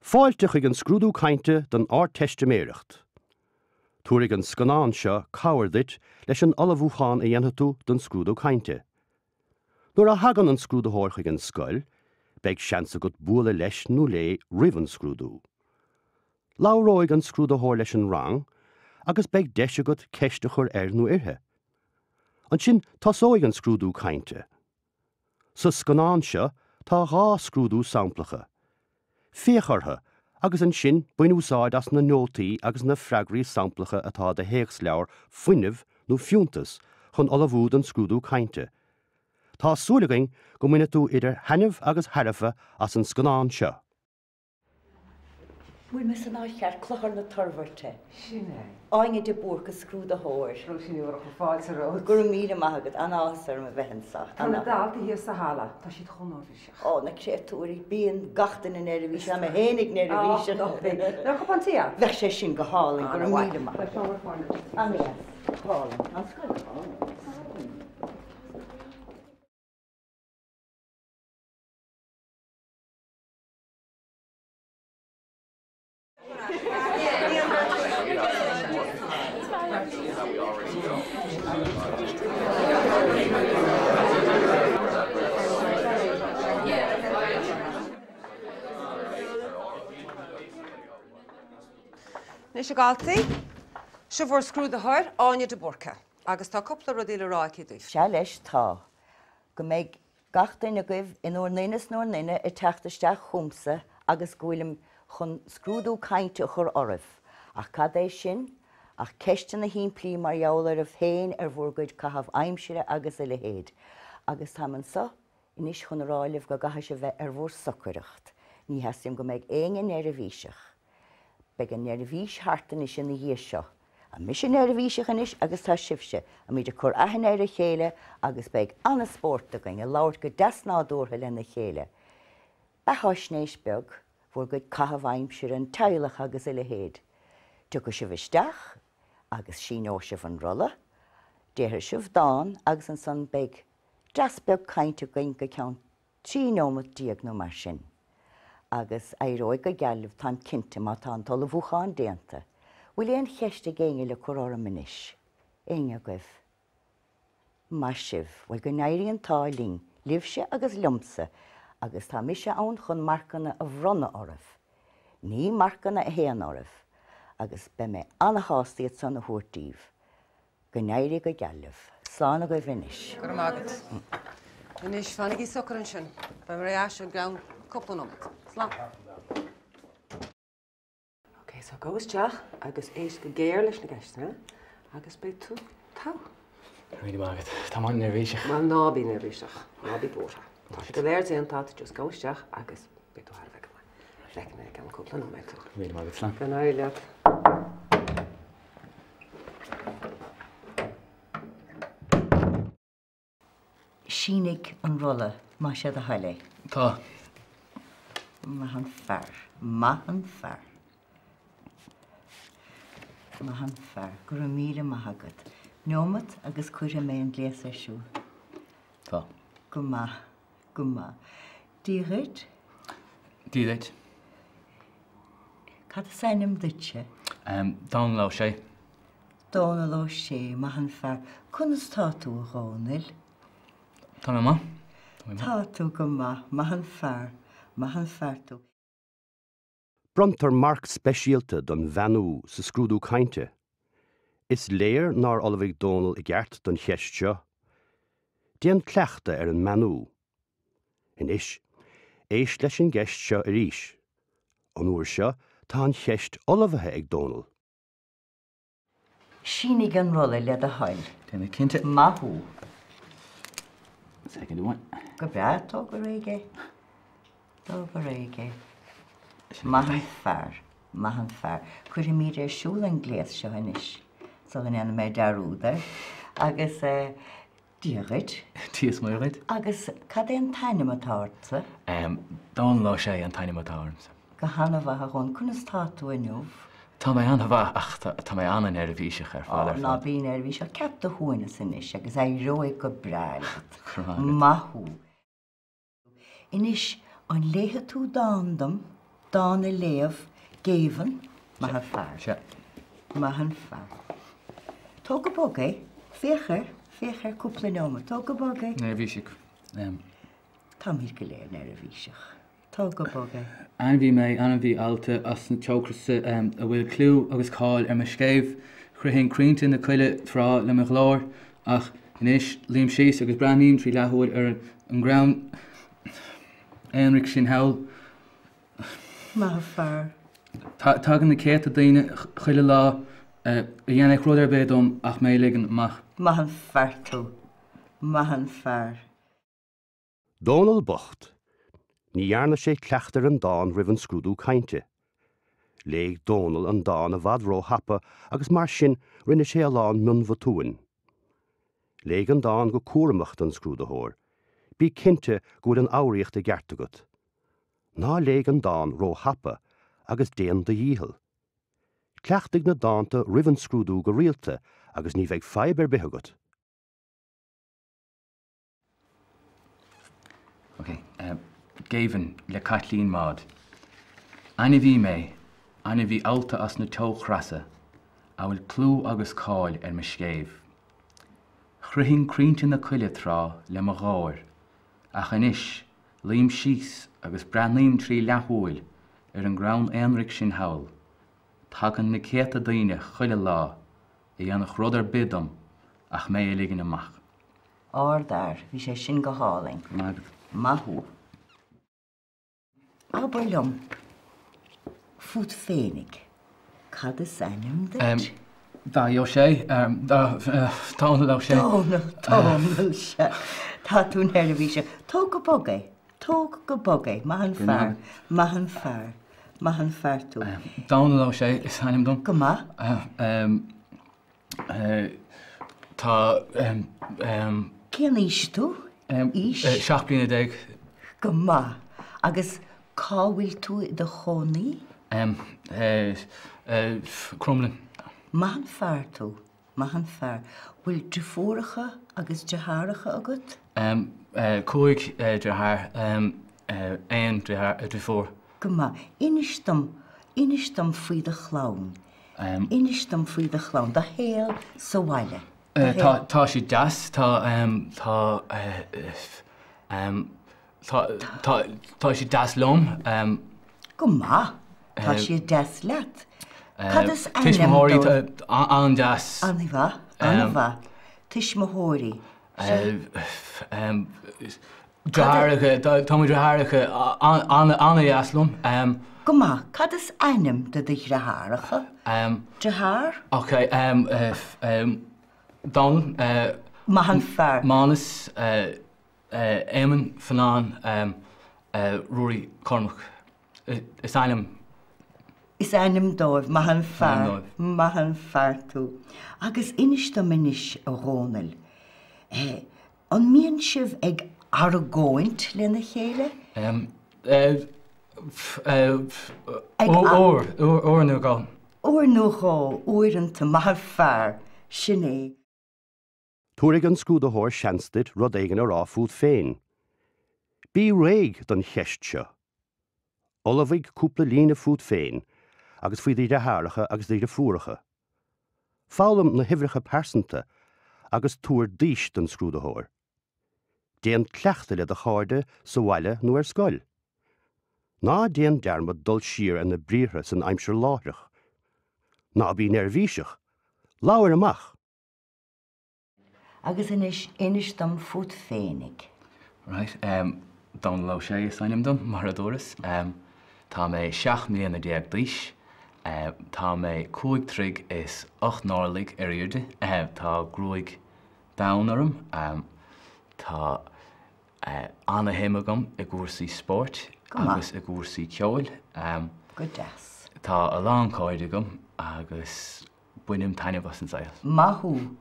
Fáilte chuig an scrúdú cainte don Ardteistiméireacht. Tabharfaidh an scannán seo cabhair duit leis an ullmhúchán a dhéanfaidh tú don scrúdú cainte. Nuair a thagann an scrúdaitheoir chuig an scoil, beidh seans agat bualadh leis nó léi roimh an scrúdú. Labhróidh an scrúdaitheoir leis an rang agus beidh deis agat ceist a chur air nó uirthi. Ansin tosóidh an scrúdú cainte. Sa scannán seo tá 2 scrúdú samplacha. Féach orthu agus ansin bain úsáid as na nótaí agus na freagraí samplacha atá i do théacsleabhar Fuinneamh nó Fiúntas chun ullmhú don scrúdú cainte. Tá súil againn go mbainfidh tú idir thaitneamh agus thairbhe as an scannán seo. Bhfuil mé san áit cheart? Clochar na Toirbhirte. Sin é. Áine de Búrca, scrúdaitheoir. Róisín Ní Mhurchú, fáilte romhat. Go raibh míle maith agat. An-áthas orm a bheith anseo. Tá na daltaí thíos sa halla. Tá siad chomh neirbhíseach. Ó, na créatúirí. Bíonn gach duine neirbhíseach. Tá mé fhéinig neirbhíseach. Ó, ná bí. An cupán tae ann? Bheadh sé sin go hálainn. Go raibh míle maith agat. Tá seomra foirne. An-dheas. Go hálainn. An scoil go hálainn. Anois a dhaltaí, seo bhur scrúdaitheoir, Áine de Búrca, agus tá cúpla rudaí le rá aici daoibh. Sea leis, tá. Go mbeidh gach duine agaibh in bhur nduine is 'núr nduine ag teacht isteach chugamsa agus go bhfuilim chun scrúdú cainte a chur oraibh. Ach cad é sin ach ceisteanna shimplí mar gheall oraibh féin ar bhur gcuid caitheamh aimsire agus a leithéid. Agus táim anso anois chun a rá libh go gcaithfidh sibh bheith ar bhur socaireacht. Ní theastaím go mbeidh éinne neirbhíseach. Beidh an neirbhís thart anois ina dhiaidh seo. Tá mise neirbhíseach anois agus tá sibhse. Táimid ag cur aithne ar a chéile agus beidh an-spórt againn ag labhairt go deas nádúrtha lena chéile. Beatháisnéis beag, bhur gcuid caitheamh aimsire, an teaghlach agus a leithéid. Tiocfaidh sibh isteach agus síneoidh sibh an rolla, déarfaidh sibh dán agus ansan beidh dreas beag cainte againn go ceann 13 nóimeat nó mar sin. Agus éireoidh go geal libh, táim cinnte, má tá an t-ullmhúchán déanta. Bhfuil aon cheist ag éinne le cur orm anois? Éinne agaibh? Maith sibh. Bhuel, go n-éirí an t-ádh linn, libhse agus liomsa, agus tá mise ann chun marcanna a bhronnadh oraibh. Ní marcanna a théann oraibh. Agus beidh mé ana-shásta iad san a thabhairt daoibh. Go n-éirí go geal libh. Slán agaibh anois. Go raibh maith agat. Anois, fanaigí socair ansin. Beidh mé ar ais i gceann cúpla nóiméad. Slán. Ok, so gabh isteach agus éist go géar leis na ceisteanna agus beidh tú togha. Go raibh míle maith agat. Tá mé an-neirbhíseach. Bhuel, ná bí neirbhíseach. Ná bí buartha. Tá sé go léir déanta agat, just gabh isteach agus beidh tú thar a bheith go maith. Feicfidh mé i gceann cúpla nóiméad tú. Go raibh míle maith agat. Slán. Go n-éirí leat. Sínigh an rolla, más é do thoil é. Tá. Maith an fear. Maith an fear. Maith an fear. Go raibh míle maith agat. Neomat agus cuirfidh mé an gléas ar siúl. Tá. Go maith. Go maith. Dia dhuit. Dia duit. Cad is ainm duitse? Dónal Ó Sé. Dónal Ó Sé, maith an fear. Conas tá tú, a Dhónaill? Tá mé maith. Tá mé maith. Tá tú go maith. Maith an fear. Maith an fear tú. Bronntar marc speisialta don bheannú sa scrúdú cainte. Is léir nár ullmhaigh Dónal i gceart don cheist seo. Déan cleachtadh ar an mbeannú. Anois, éist leis an gceist seo arís. An uair seo, tá an cheist ullmhaithe ag Dónal. Sínigh an rolla le do thoil. Déanfaidh cinnte. Maith thú. Soicind amháin. Go breá, tóg go réidh é. Tóg go réidh é. Maith an fear. Maith an fear. Cuirfimid ar siúl an gléas seo anois, sula ndéanfaidh mé dearúd air. Agus eh, Dia dhuit. Dia is Muire dhuit. Agus cad é an t-ainm atá ortsa? Dónal Ó Sé an t-ainm atá ormsa. Go han-mhaith a Dhónaill. Conas tá tú inniu? Tá mé an-mhaith ach tá mé an-neirbhíseach ar fad ar fad. Ná bí neirbhíseach. Ceap do shuaimhneas anois agus éireoidh go breá leat. Go raibh maith agat. Maith thú. Anois, an léifidh tú dán dom? Dán a léamh, Géibheann, maith an fear. Sea. Maith an fear. Tóg go bog é. Féach air, féach air cúpla nóiméad. Tóg go bog é. Neirbhíseach. Táimid go léir neirbhíseach. Tóg go bog é. Ainmhí mé, ainmhí allta as na teochreasa a bhfuil clú agus cáil ar mo scéimh. Chroithfinn crainnte na coille tráth le mo ghlór, ach anois luím síos agus breathnaím trí leathshúil ar an gcrann aonraic sin thall. Maith an fear. Tagann na céadta daoine chuile lá a dhéanfadh rud ar bith dom ach mé a ligean amach. Maith an fear tú. Maith an fear. Dónall bocht. Ní dhearna sé cleachtadh ar an dán roimh an scrúdú cainte. Léigh Dónall an dán i bhfad ró-thapa agus mar sin rinne sé a lán mionbhotúin. Léigh an dán go cúramach don scrúdaitheoir. Bí cinnte go bhfuil an fhoghraíocht i gceart agat. Ná léigh an dán ró-thapa agus déan do dhícheall. Cleachtaigh na dánta roimh an scrúdú go rialta agus ní bheidh fadhb ar bith agat. Ok, Géibheann le Caitlín Maude. Ainmhí mé, ainmhí allta as na teochreasa, a bhfuil clú agus cáil ar mo scéimh. Chroithfinn crainnte na coille tráth le mo gháir, ach anois luím síos agus breathnaím trí leathshúil ar an gcrann aonraic sin thall. Tagann na céadta daoine chuile lá a dhéanfadh rud ar bith dom ach mé a ligean amach. Ardfhear, bhí sé sin go hálainn. Maith agat. Maith thú. Abair liom fút féinig, cad is ainm duit? Dáithí Ó Sé, Dónall Ó Sé. Dónall, Dónall, sea. Tá tú neirbhíseach. Tóg go bog é, tóg go bog é. Maith an fear, maith an fear, maith an fear tú. Dónall Ó Sé is ainm dom. Go maith. Tá. Cén aois tú? Aois? 17 bliana. Go maith. Agus cá bhfuil tú i do chónaí? Cromghlinn. Maith an fear tú. Maith an fear. Bhfuil deirfiúracha agus deartháireacha agat? Cúig deartháir, aon deirfiúr. Go maith. Inis dom, inis dom faoi do chlann. Inis dom faoi do chlann, do shaol sa bhaile. Tá, tá siad deas, tá, tá, tá, tá, tá siad deas liom. Go maith, tá siad deas leat. Cad is ainm Tuismitheoirí dóibh? an-deas. An-mhaith, an-mhaith. Tuismitheoirí. Deartháireacha, tá mo dheartháireacha an-deas liom. Go maith, cad is ainm do do dheartháireacha? Deartháir? Ok, Dónal. Maith an fear. Mánas, Éamonn, Fionán, Ruairí, Cormac. Is ainm. Is ainm dóibh. Maith an fear. Maith an fear tú. Agus inis dom anois, a Dhónaill, an mbíonn sibh ag argóint lena chéile? Uair, uair nó dhó. Uair nó dhó, uaireanta, maith an fear, sin é. Tabharfaidh an scrúdaitheoir seans duit rud éigin a rá fút féin. Bí réidh don cheist seo. Ullmhaigh cúpla líne fút féin agus faoi do dheartháireacha agus do dhriofúracha. Foghlaim na huimhreacha pearsanta agus tabhair d'aois don scrúdaitheoir. Déan cleachtadh le do chairde sa bhaile nó ar scoil. Ná déan dearmad dul siar ar na briathra san aimsir láithreach. Ná bí neirbhíseach! Labhair amach! Agus anois, inis dom fút féinig. Right, em, Dónall Ó Sé is ainm dom, mar a dúras. Em, tá mé 17 mbliana d'aois. Em, tá mé cúig troigh is ocht n-orlaigh ar airde. Em, tá gruaig donn orm. Em, tá, eh, ana-shuim agam i gcúrsaí spóirt Go maith. agus i gcúrsaí ceoil. Em, Go deas. tá a lán cairde agam agus Bainim taitneamh as an saol. Maith thú.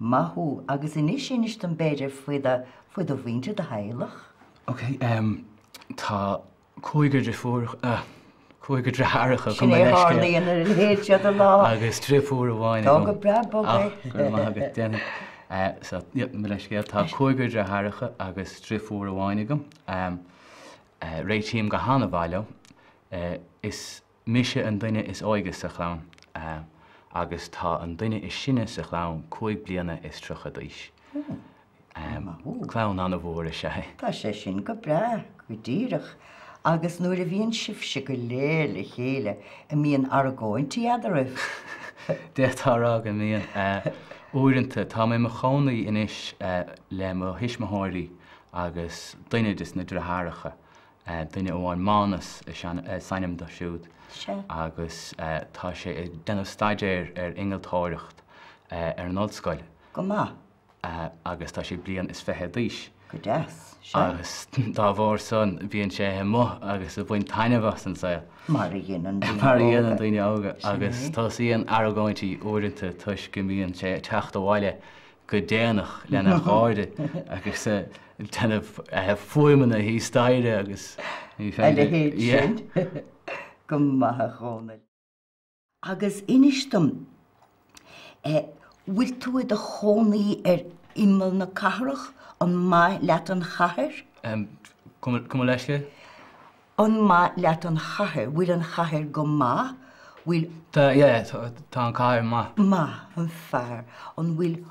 Maith thú. Agus anois inis dom b'fhéidir faoi do, faoi do mhuintir, do theaghlach. Ok, em, tá cúigear deirfiúr, eh, cúigear deartháireacha Sin agam, é a tharlaíonn ar a leithéid seo de lá. Agus driofúr amháin agam. Tóg go breá bog é. Ah, go raibh maith agat, déanfaidh. Eh, so, yeah, mo leithscéal, tá cúigear deartháireacha agus driofúr amháin agam. Em, eh, réitím go han-mhaith leo. Is mise an duine is óige sa chlann agus tá an duine is sine sa chlann 35 bliana d'aois. Clann an-mhór is ea é. Tá sé sin go breá, go díreach. Agus nuair a bhíonn sibhse go léir le chéile, an mbíonn argóintí eadraibh? D'fhéadfá a rá go mbíonn. Uaireanta. Tá mé i mo chónaí anois le mo thuismitheoirí agus duine des na deartháireacha. Duine amháin, Mánas is ainm dó siúd agus tá sé ag déanamh staidéir ar innealtóireacht ar an ollscoil. Go maith. Agus tá sé bliain is fiche d'aois. Go deas. Sea. Agus dá bharr san bíonn sé amuigh agus ag baint taitneamh as an saol. Mar a dhéanann daoine óga. Mar a dhéanann daoine óga. Agus tosaíonn argóintí uaireanta toisc go mbíonn sé ag teacht abhaile go déanach lena chairde agus ag déanamh fuaimeanna thíos staighre agus ní féidir. A leithéid sin. Go maith a Dhónaill. Agus inis dom, bhfuil tú i do chónaí ar imeall na cathrach? An maith leat an chathair? Gabh mo leithscéal? An maith leat an chathair? Bhfuil an chathair go maith? Bhfuil. Tá, yeah, tá an chathair maith. Maith an fear. An bhfuil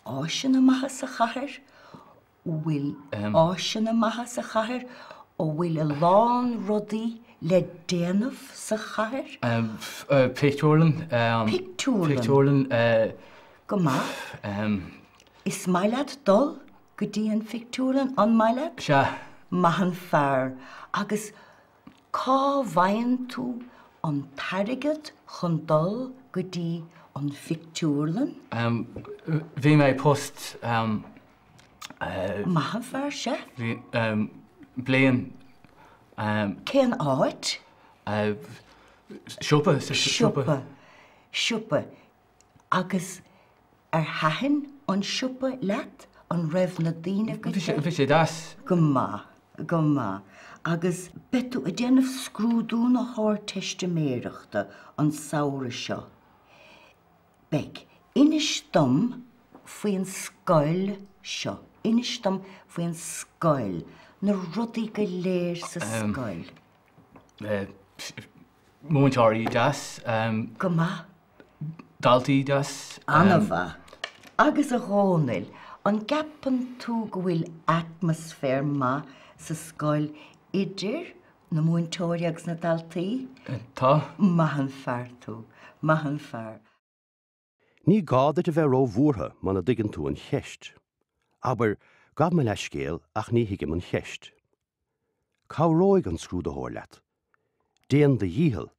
áiseanna maithe sa chathair? Bhfuil áiseanna maithe sa chathair? An bhfuil a lán rudaí le déanamh sa chathair? Pictiúrlann. Pictiúrlann. Pictiúrlann. Go maith. Is maith leat dul go dtí an phictiúrlann, an maith leat? Sea. Maith an fear. Agus cá bhfaigheann tú an t-airgead chun dul go dtí an phictiúrlann? Bhí mé i post. Maith an fear, sea. Bhí, bliain. Cén áit? Siopa, sa siopa. Siopa, siopa. Agus ar thaitin an siopa leat? An raibh na daoine go deas? Bhí sé deas. Go maith, go maith. Agus beidh tú ag déanamh scrúdú na hArdteistiméireachta an samhradh seo. Beidh. Inis dom faoin scoil seo. Inis dom faoin scoil. Na rudaí go léir sa scoil. Múinteoirí deas. Go maith. Daltaí deas. An-mhaith. Agus a Dhónaill, an gceapann tú go bhfuil atmaisféar maith sa scoil idir na múinteoirí agus na daltaí? Tá. Maith an fear tú. Maith an fear. Ní gá duit a bheith róbhuartha muna dtuigeann tú an cheist. Abair, gabh mo leithscéal ach ní thuigim an cheist. Cabhróidh an scrúdaitheoir leat. Déan do dhícheall.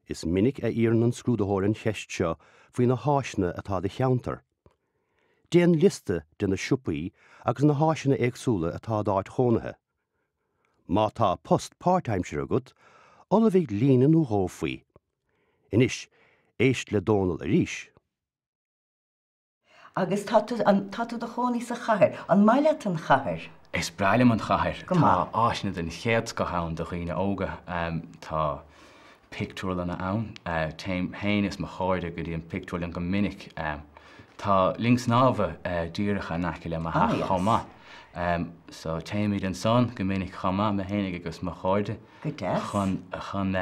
Is minic a iarrann an scrúdaitheoir an cheist seo faoi na háiseanna atá i do cheantar. Déan liosta de na siopaí agus na háiseanna éagsúla atá i d'áit chónaithe. Má tá post páirtaimseartha agat, ullmhaigh líne nó dhó faoi. Anois, éist le Dónal arís. Agus tá tú, tá tú i do chónaí sa chathair. An maith leat an chathair? Is breá liom an chathair. Go maith. Tá áiseanna den chéad scoth ann do dhaoine óga. Tá pictiúrlanna ann. Téim féin is mo chairde go dtí an pictiúrlann go minic. Tá linn snámha díreach in aice le mo theach chomh maith. So téimid ansan go minic chomh maith, mé féinig agus mo chairde. Go deas. Chun, chun,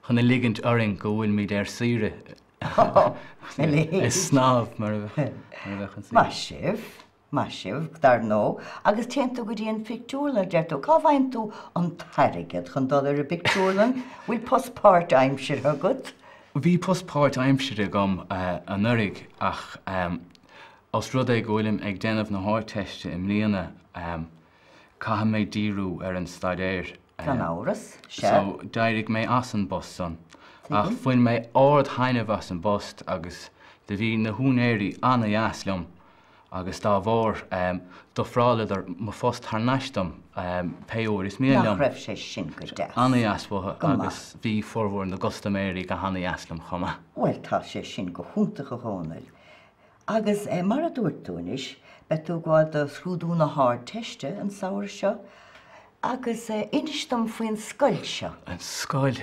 chun a ligint orainn go bhfuilimid ar saoire. Ag snámh mar a bheadh an saol. Maith sibh, maith sibh, dar ndóigh. Agus téann tú go dtí an phictiúrlann, a deir tú. Cá bhfaigheann tú an t-airgead chun dul ar an bpictiúrlann? Bhfuil post páirtaimseartha agat? Bhí post páirtaimseartha agam anuraidh ach os rud é go bhfuilim ag déanamh na hArdteiste i mbliana, Caithfidh mé díriú ar an staidéar. Gan amhras, sea. So, d'éirigh mé as an bpost san. Ach bhain mé ard-thaitneamh as an bpost agus do bhí na húinéirí ana-dheas liom agus dá bharr d'ofráileadar mo phost thar n-ais dom pé uair is mian liom. Nach raibh sé sin go deas? Ana-dheas uathu agus bhí formhór na gcustaiméirí go hana-dheas liom chomh maith. Bhuel, tá sé sin go hiontach a Dhónaill. Agus mar a dúirt tú anois, beidh tú ag gabháil do scrúdú na hArdteiste an samhradh seo. Agus inis dom faoin scoil seo. An scoil?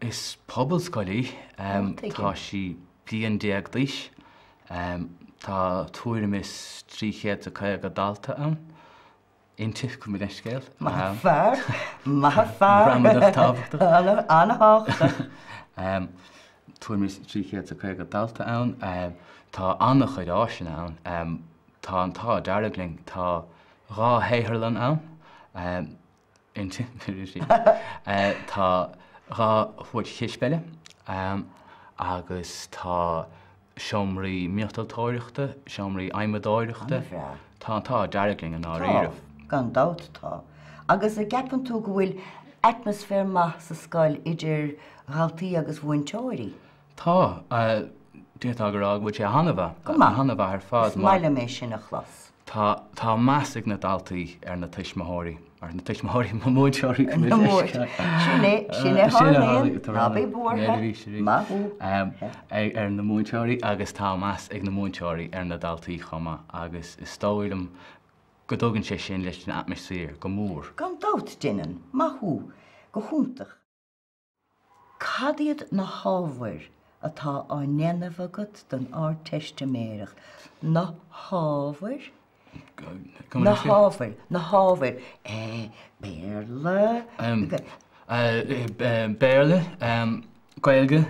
Is pobalscoil í. Tá sí bliain déag d'aois. Tá tuairim is 350 dalta ann. Inti, gabh mo leithscéal. Maith an fear, maith an fear. Gramadach tábhachtach. An-tábhachtach. Tuairim is 350 dalta ann. Tá an-chuid áiseanna ann. Tá an t-ádh dearg linn, tá 2 shaotharlann ann. Inti, tá 2 chúirt chispheile agus tá seomraí miotaltóireachta, seomraí adhmadóireachta. An-bhreá. Tá an t-ádh dearg linn i ndáiríribh. Tá, gan dabht tá. Agus an gceapann tú go bhfuil atmaisféar maith sa scoil idir dhaltaí agus mhúinteoirí? Tá. D'fhéadfá a rá go bhfuil sé an-mhaith. Go maith. An-mhaith ar fad. Is maith liom é sin a chlos. Tá, tá meas ag na daltaí ar na tuismitheoirí, ar na tuismitheoirí, na múinteoirí, Na múinteoirí. Sin é, sin é a tharlaíonn, ná bí buartha, maith thú. Ar na múinteoirí agus tá meas ag na múinteoirí ar na daltaí chomh maith agus is dóigh liom go dtugann sé sin leis an atmaisféar go mór. Gan dabht, déanann, maith thú, go hiontach. Cad iad na hábhair atá á ndéanamh agat don Ardteistiméireacht? Na hábhair? Na hábhair, na hábhair, Béarla? Béarla, Gaeilge,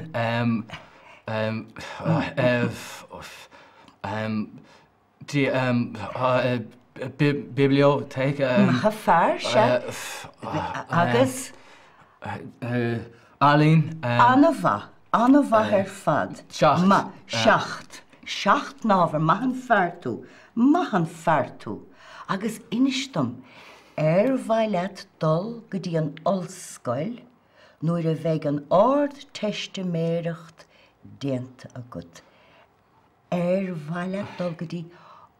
Bibliothèque. Maith an fear, sea. Agus? Ealaín. An-mhaith, an-mhaith ar fad. Seacht. Maith, seacht. Seacht n-ábhar, maith an fear tú, maith an fear tú. Agus inis dom, ar mhaith leat dul go dtí an ollscoil nuair a bheidh an Ardteistiméireacht déanta agat? Ar mhaith leat dul go dtí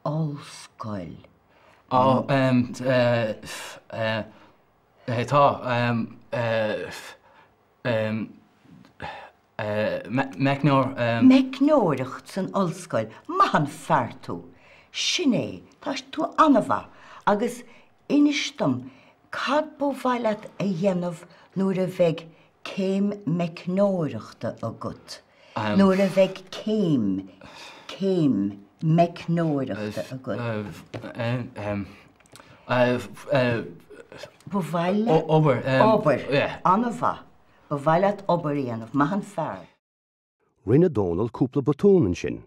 ollscoil? Á, em, tá, em, em, meicneoir, em. Meicneoireacht san ollscoil, maith an fear tú! Sin é, tá tú an-mhaith. Agus inis dom, cad ba mhaith leat a dhéanamh nuair a bheidh céim meicneoireachta agat? Nuair a bheidh céim, céim meicneoireachta agat. Ba mhaith leat. Obair. Obair. An-mhaith. Ba mhaith leat obair a dhéanamh. Maith an fear. Rinne Dónall cúpla botún ansin.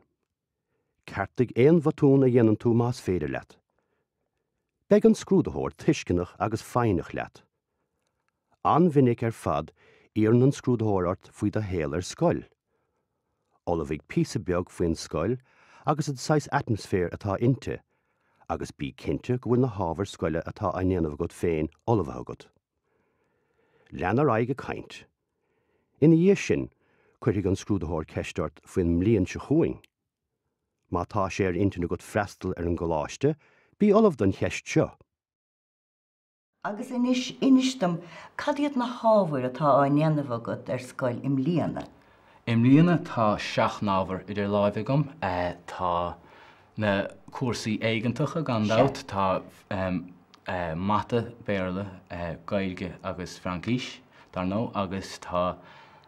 Ceartaigh aon bhotún a dhéanann tú más féidir leat. Beidh an scrúdaitheoir tuisceanach agus foighneach leat. An-mhinic ar fad iarrann an scrúdaitheoir ort faoi do shaol ar scoil. Ullmhaigh píosa beag faoin scoil agus an saghas atmaisféir atá inti agus bí cinnte go bhfuil na hábhair scoile atá á ndéanamh agat féin ullmhaithe agat. Lean ar aghaidh ag caint. Ina dhiaidh sin, cuirfidh an scrúdaitheoir ceist ort faoin mbliain seo chugainn. Má tá sé ar intinn agat freastal ar an gcoláiste, bí ullamh don cheist seo. Agus anois, inis dom, cad iad na hábhair atá á ndéanamh agat ar scoil i mbliana? I mbliana tá seacht n-ábhar idir láimhe agam. Tá na cúrsaí éigeantacha gan dabht, tá Mata, Béarla, Gaeilge agus Fraincis, dar ndóigh, agus tá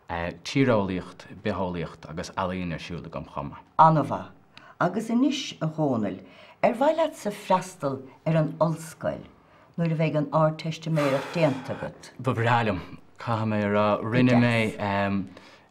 Tíreolaíocht, Bitheolaíocht agus Ealaín ar siúl agam chomh maith. An-mhaith. Agus anois, a Dhónaill, ar mhaith leatsa freastal ar an ollscoil nuair a bheidh an Ardteistiméireacht déanta agat? Ba bhreá liom, caithfidh mé a rá. Rinne mé,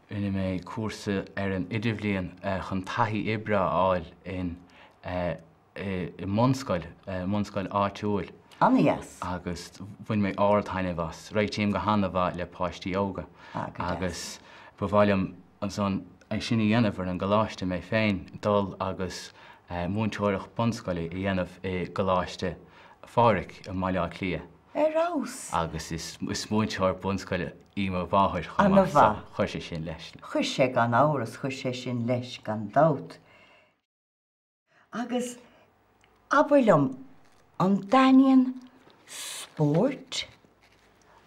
rinne mé cúrsa ar an idirbhliain chun taithí oibre a fháil in, i mbunscoil, mbunscoil áitiúil. An-dheas. Agus bhain mé ard-taitneamh as. Réitím go han-mhaith le páistí óga. Ah, go deas. Agus ba mhaith liom ansan é sin a dhéanamh ar an gcoláiste mé féin, dul agus múinteoireacht bunscoile a dhéanamh i gColáiste Phádraig i mBaile Átha Cliath. Ar fheabhas! Agus is múinteoir bunscoile í mo mháthair chomh maith so chuir sé sin leis. Chuir sé gan amhras, chuir sé sin leis gan dabht. Agus abair liom, an dtaitníonn spórt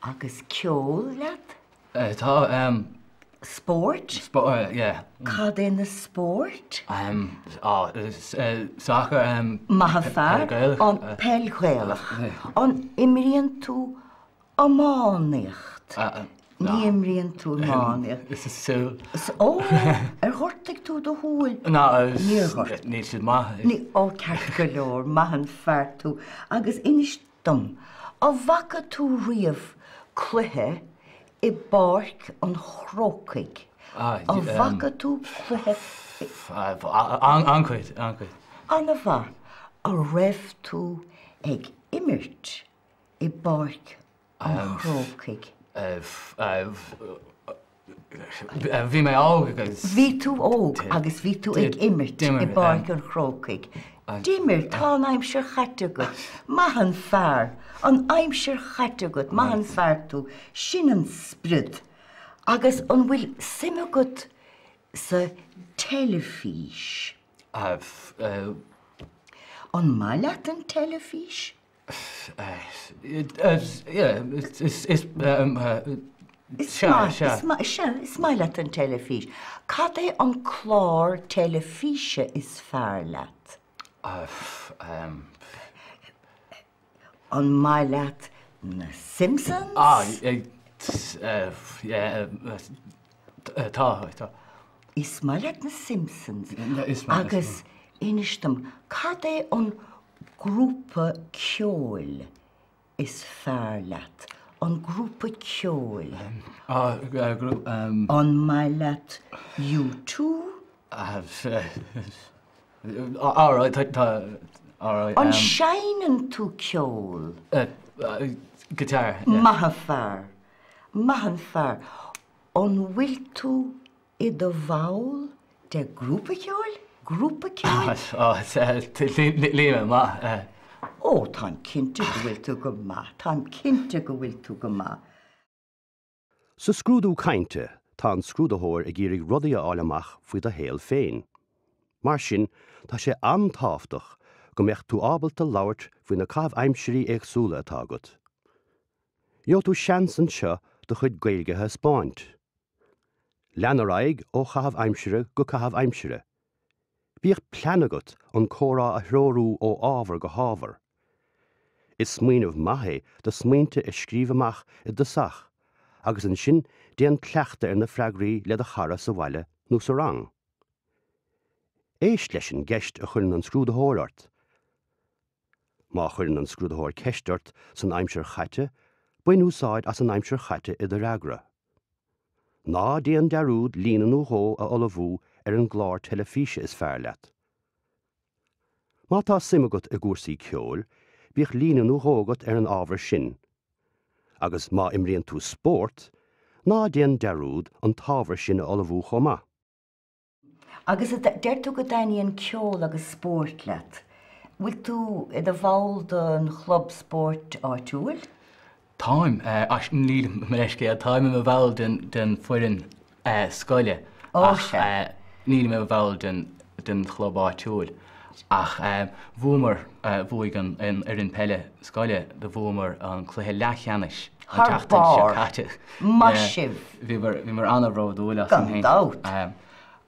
agus ceol leat? Tá, em. Spórt? Spórt, yeah. Cad é na spóirt? Em, á, soccer, em. Maith an fear, an peil Ghaelach. An imríonn tú Iománaíocht. Ní imríonn tú iománaíocht. Is súil. Ó, ar ghortaigh tú do shúil? Ná, Níor ghortaigh. Níl siad maith. Ní, ó, ceart go leor, maith an fear tú. Agus inis. dom, an bhfaca tú riamh cluiche i bPáirc an Chrócaigh? An bhfaca tú cluiche i. An-chuid, an-chuid. An-mhaith. An raibh tú ag imirt i bPáirc an Chrócaigh? Bhí mé óg agus. Bhí tú óg agus bhí tú ag imirt i bPáirc an Chrócaigh. D'imir, tá an aimsir chaite agat. Maith an fear. An aimsir chaite agat, maith an fear tú. Sin an spiorad. Agus an bhfuil suim agat sa teilifís? An maith leat an teilifís? Is maith, is maith leat an teilifís. Cad é an clár teilifíse is fearr leat? An maith leat na Simpsons? Tá, tá. Is maith leat na Simpsons. Agus inis dom, cad é an grúpa ceoil is fearr leat? An grúpa ceoil. An maith leat U2? An seinneann tú ceol? Guitar. Maith an fear. Maith an fear. An bhfuil tú i do bhall de grúpa ceoil? Grúpa ceoil? Níl mé maith. Ó, táim cinnte go bhfuil tú go maith. Táim cinnte go bhfuil tú go maith. Sa scrúdú cainte, tá an scrúdaitheoir ag iarraidh rudaí a fháil amach faoi do shaol féin. Mar sin, tá sé an-tábhachtach go mbeadh tú ábalta labhairt faoi na caithimh aimsirí éagsúla atá agat. Gheobhaidh tú seans anseo do chuid Gaeilge a thaispeáint. Lean ar aghaidh ó chaitheamh aimsire go caitheamh aimsire. Bíodh plean agat an comhrá a threorú ó ábhar go hábhar. Is smaoineamh maith é do smaointe a scríobh amach i dtosach agus ansin déan cleachtadh ar na freagraí le do chara sa bhaile nó sa rang. Éist leis an gceist a chuireann an scrúdaitheoir ort. Má chuireann an scrúdaitheoir ceist ort san aimsir chaite, bain úsáid as an aimsir chaite i do fhreagra. Ná déan dearúd líne nó dhó a ullmhú ar an gclár teilifíse is fearr leat. Má tá suim agat i gcúrsaí ceoil, bíodh líne nó dhó agat ar an ábhar sin. Agus má imríonn tú spórt, ná déan dearúd an t-ábhar sin a ullmhú chomh maith. Agus deir tú go dtaitníonn ceol agus spórt leat. Bhfuil tú i do bhall den chlub spóirt áitiúil? Táim, ach nílim, mo leithscéal, táim i mo bhall den foireann scoile ach nílim i mo bhall den chlub áitiúil. Ach bhuamar, bhuaigh an fhoireann peile scoile, do bhuamar an cluiche leathcheannais an tseachtain seo caite. Maith sibh! Bhíomar an-bhródúil asainn féin. Gan dabht!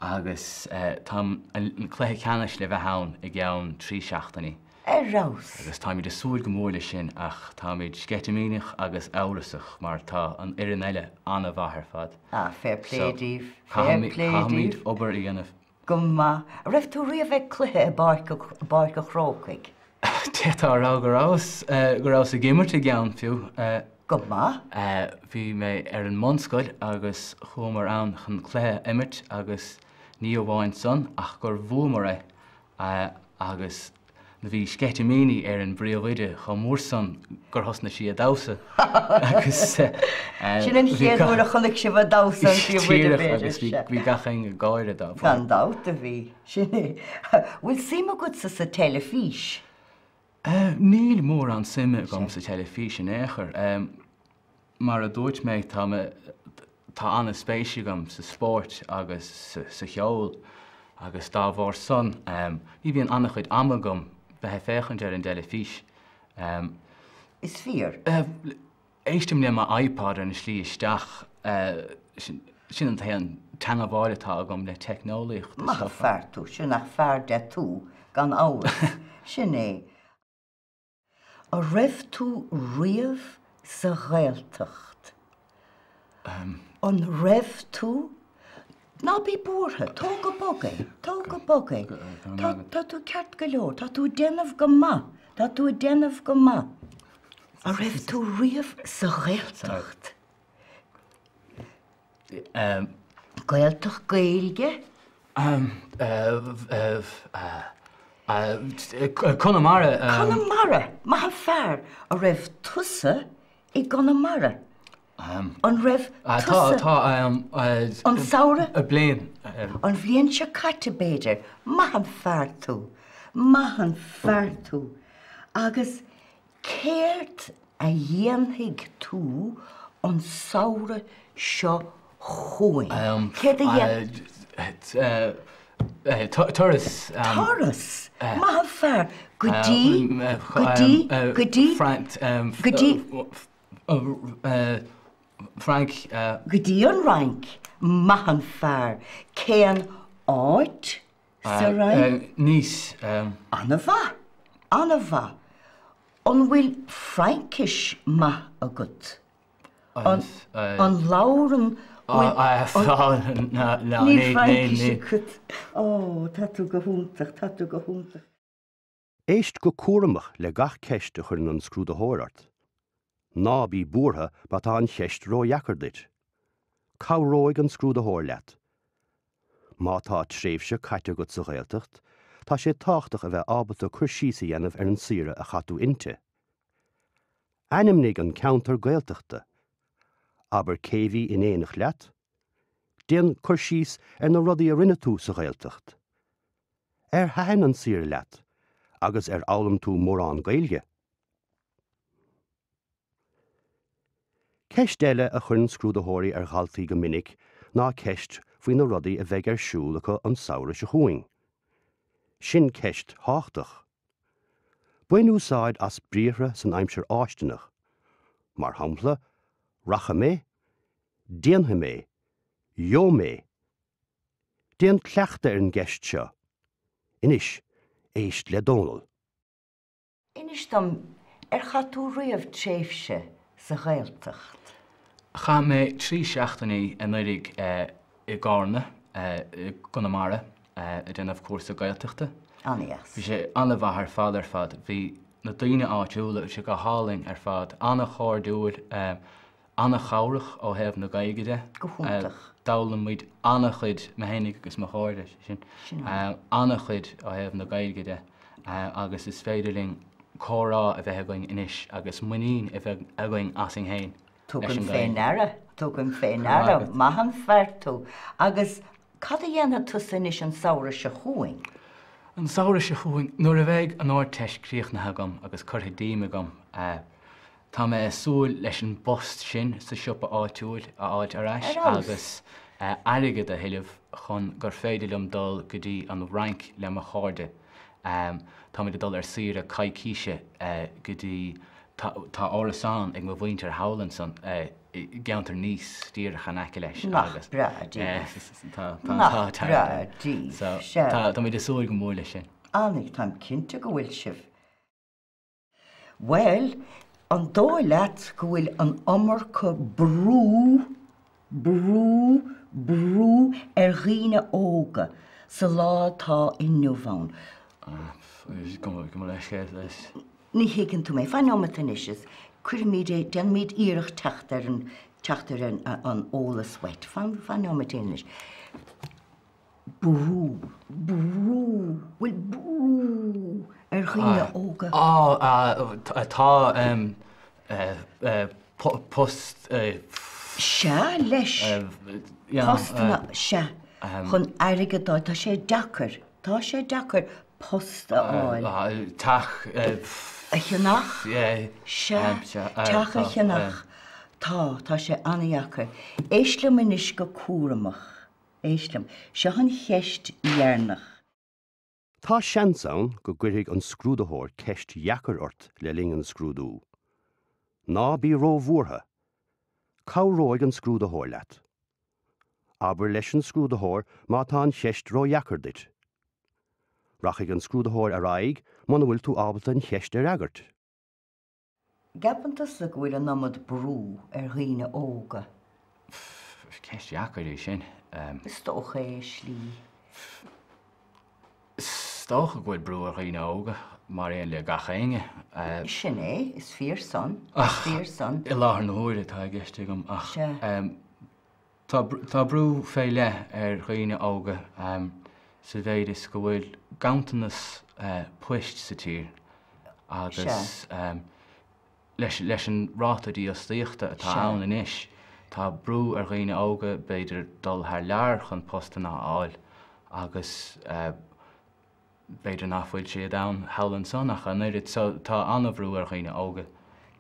Agus tá an cluiche ceannais le bheith ann i gceann 3 seachtainí. Ar fheabhas! Agus táimid ag súil go mór leis sin ach táimid sceitimíneach agus amhrasach mar tá an fhoireann eile an-mhaith ar fad. Ah, fair play daoibh. Fair play daoibh. Caithfimid obair a dhéanamh. Go maith. An raibh tú riamh ag cluiche i bPáirc an Chrócaigh? D'fhéadfá a rá go rabhas, go rabhas ag imirt i gceann fiú. Go maith. Bhí mé ar an mbunscoil agus chuamar ann chun cluiche a imirt agus ní amháin san ach gur bhuamar é agus Bhí sceitimíní ar an bpríomhoide chomh mór san gur thosnaigh sí ag damhsa agus Sin an chéad uair a chonaic sibh ag damhsa an príomhoide b'fhéidir. Agus bhí gach éinne ag gáire dá bharr. Gan dabht a bhí. Sin é. Bhfuil suim agatsa sa teilifís? Níl mórán suime agam sa teilifís in aon chor. Mar a dúirt mé, tá mé, tá an-spéis agam sa spórt agus sa cheol agus dá bharr san, ní bhíonn an-chuid ama agam bheith ag féachaint ar an dteilifís. Is fíor. Éistim le mo iPod ar an slí isteach, sin an t-aon teangmháil atá agam le teicneolaíocht is dócha. Maith an fear tú, sin ach fear de tú, gan amhras. Sin é. An raibh tú riamh sa Ghaeltacht? An raibh tú? Ná bí buartha, tóg go bog é, tóg go bog é. Tá tú ceart go leor, tá tú ag déanamh go maith, tá tú ag déanamh go maith. An raibh tú riamh sa Ghaeltacht? Gaeltacht Gaeilge? Conamara. Conamara! Maith an fear! An raibh tusa i gConamara? An raibh tusa? Tá, tá. An samhradh? Bliain. An bhliain seo caite, b'fhéidir. Maith an fear tú! Maith an fear tú! Agus Céard a dhéanfaidh tú an samhradh seo chugainn? Céard a dhéanfaidh? Turas. Turas! Maith an fear! Go dtí? Go dtí? Go dtí? Go dtí? Frainc. Go dtí an Fhrainc. Maith an fear! Cén áit sa Fhrainc? Nice. An-mhaith! An-mhaith! An bhfuil Fraincis maith agat? An labhrann Níl Fraincis agat. Ó, tá tú go hiontach, tá tú go hiontach. Éist go cúramach le gach ceist a chuireann an scrúdaitheoir ort. Ná bí buartha má tá an cheist ródheacair duit. Cabhróidh an scrúdaitheoir leat. Má tá tréimhse caite agat sa Ghaeltacht, tá sé tábhachtach a bheith ábalta cur síos a dhéanamh ar an saoire a chaith tú inti. Ainmnigh an ceantar Gaeltachta. Abair cé bhí in éineacht leat. Déan cur síos ar na rudaí a rinne tú sa Ghaeltacht. Ar thaitin an saoire leat agus ar fhoghlaim tú mórán Gaeilge? Ceist eile a chuireann scrúdaitheoirí ar dhaltaí go minic ná ceist faoi na rudaí a bheidh ar siúl acu an samhradh seo chugainn. Sin ceist thábhachtach. Bain úsáid as briathra san aimsir fháistineach, mar shampla, rachaidh mé, déanfaidh mé, gheobhaidh mé. Déan cleachtadh ar an gceist seo. Anois, éist le Dónal. Inis dom, ar chaith tú riamh tréimhse sa Ghaeltacht? Chaith mé 3 seachtainí anuraidh i gCarna i gConamara ag déanamh cúrsa Gaeltachta. An-dheas. Bhí sé an-mhaith ar fad ar fad. Bhí na daoine áitiúla, bhí sé go hálainn ar fad, an-chairdiúil. An-chabhrach ó thaobh na Gaeilge de. Go hiontach. D'fhoghlaim muid an-chuid, mé fhéinig agus mo chairde, sin, an-chuid ó thaobh na Gaeilge de agus is féidir linn comhrá a bheith againn anois agus muinín a bheith againn asainn féin leis Tugaim an fé Ghaeilge. ndeara, tugaim fé ndeara, maith an fear tú. Agus cad a dhéanfaidh tusa anois an samhradh seo chugainn? An samhradh seo chugainn, nuair a bheidh an Ardteist críochnaithe agam agus curtha díom agam, Tá mé ag súil leis an bpost sin sa siopa áitiúil a fháilt ar ais agus airgead a thuilleamh chun gur féidir liom dul go dtí an Fhrainc le mo chairde. Táimid ag dul ar saoire coicíse go dtí, tá árasán ag mo mhuintir thall ansan i gceantar Nice, díreach in aice leis Nach agus breá daoibh. tá an Nach t-ádh breá dearg. daoibh. So Sea. táimid ag súil go mór leis sin. Ana, táim cinnte go bhfuil sibh. Bhuel, an dóigh leat go bhfuil an iomarca brú, brú, brú ar dhaoine óga sa lá atá inniu ann? Gabh mo leithscéal leis. Ní thuigeann tú mé. Fan nóimeat anois is cuirfimid é, déanfaimid iarracht teacht ar an, teacht ar an, an eolas uait. Fan, fan nóimeat anois. Brú, brú, bhfuil brú ar dhaoine óga? Á, tá post. Sea, leis. Postanna, sea, chun airgead a fháil, tá sé deacair, tá sé deacair post a fháil. Teach. A cheannach? Sea, teach a cheannach. Tá, tá sé an-dheacair. Éist liom anois go cúramach. Éist liom. Seo an cheist dheireanach. Tá seans ann go gcuirfidh an scrúdaitheoir ceist dheacair ort le linn an scrúdú. Ná bí róbhuartha. Cabhróidh an scrúdaitheoir leat. Abair leis an scrúdaitheoir má tá an cheist ródheacair duit. Rachaidh an scrúdaitheoir ar aghaidh muna bhfuil tú ábalta an cheist a fhreagairt. Gceapann tusa go bhfuil an iomad brú ar dhaoine óga? Ceist dheacair í sin. Is dócha é i slí. Is dócha go bhfuil brú ar dhaoine óga. Mar aon le gach éinne. Sin é, is fíor san, is fíor san. I láthair na huaire atá i gceist agam ach tá tá brú fé leith ar dhaoine óga sa mhéid is go bhfuil ganntanas poist sa tír agus leis leis an ráta dífhostaíochta atá ann anois tá brú ar dhaoine óga b'fhéidir dul thar lear chun postanna a fháil agus B'fhéidir nach bhfuil siad ann thall ansan ach an oiread so tá an-bhrú ar dhaoine óga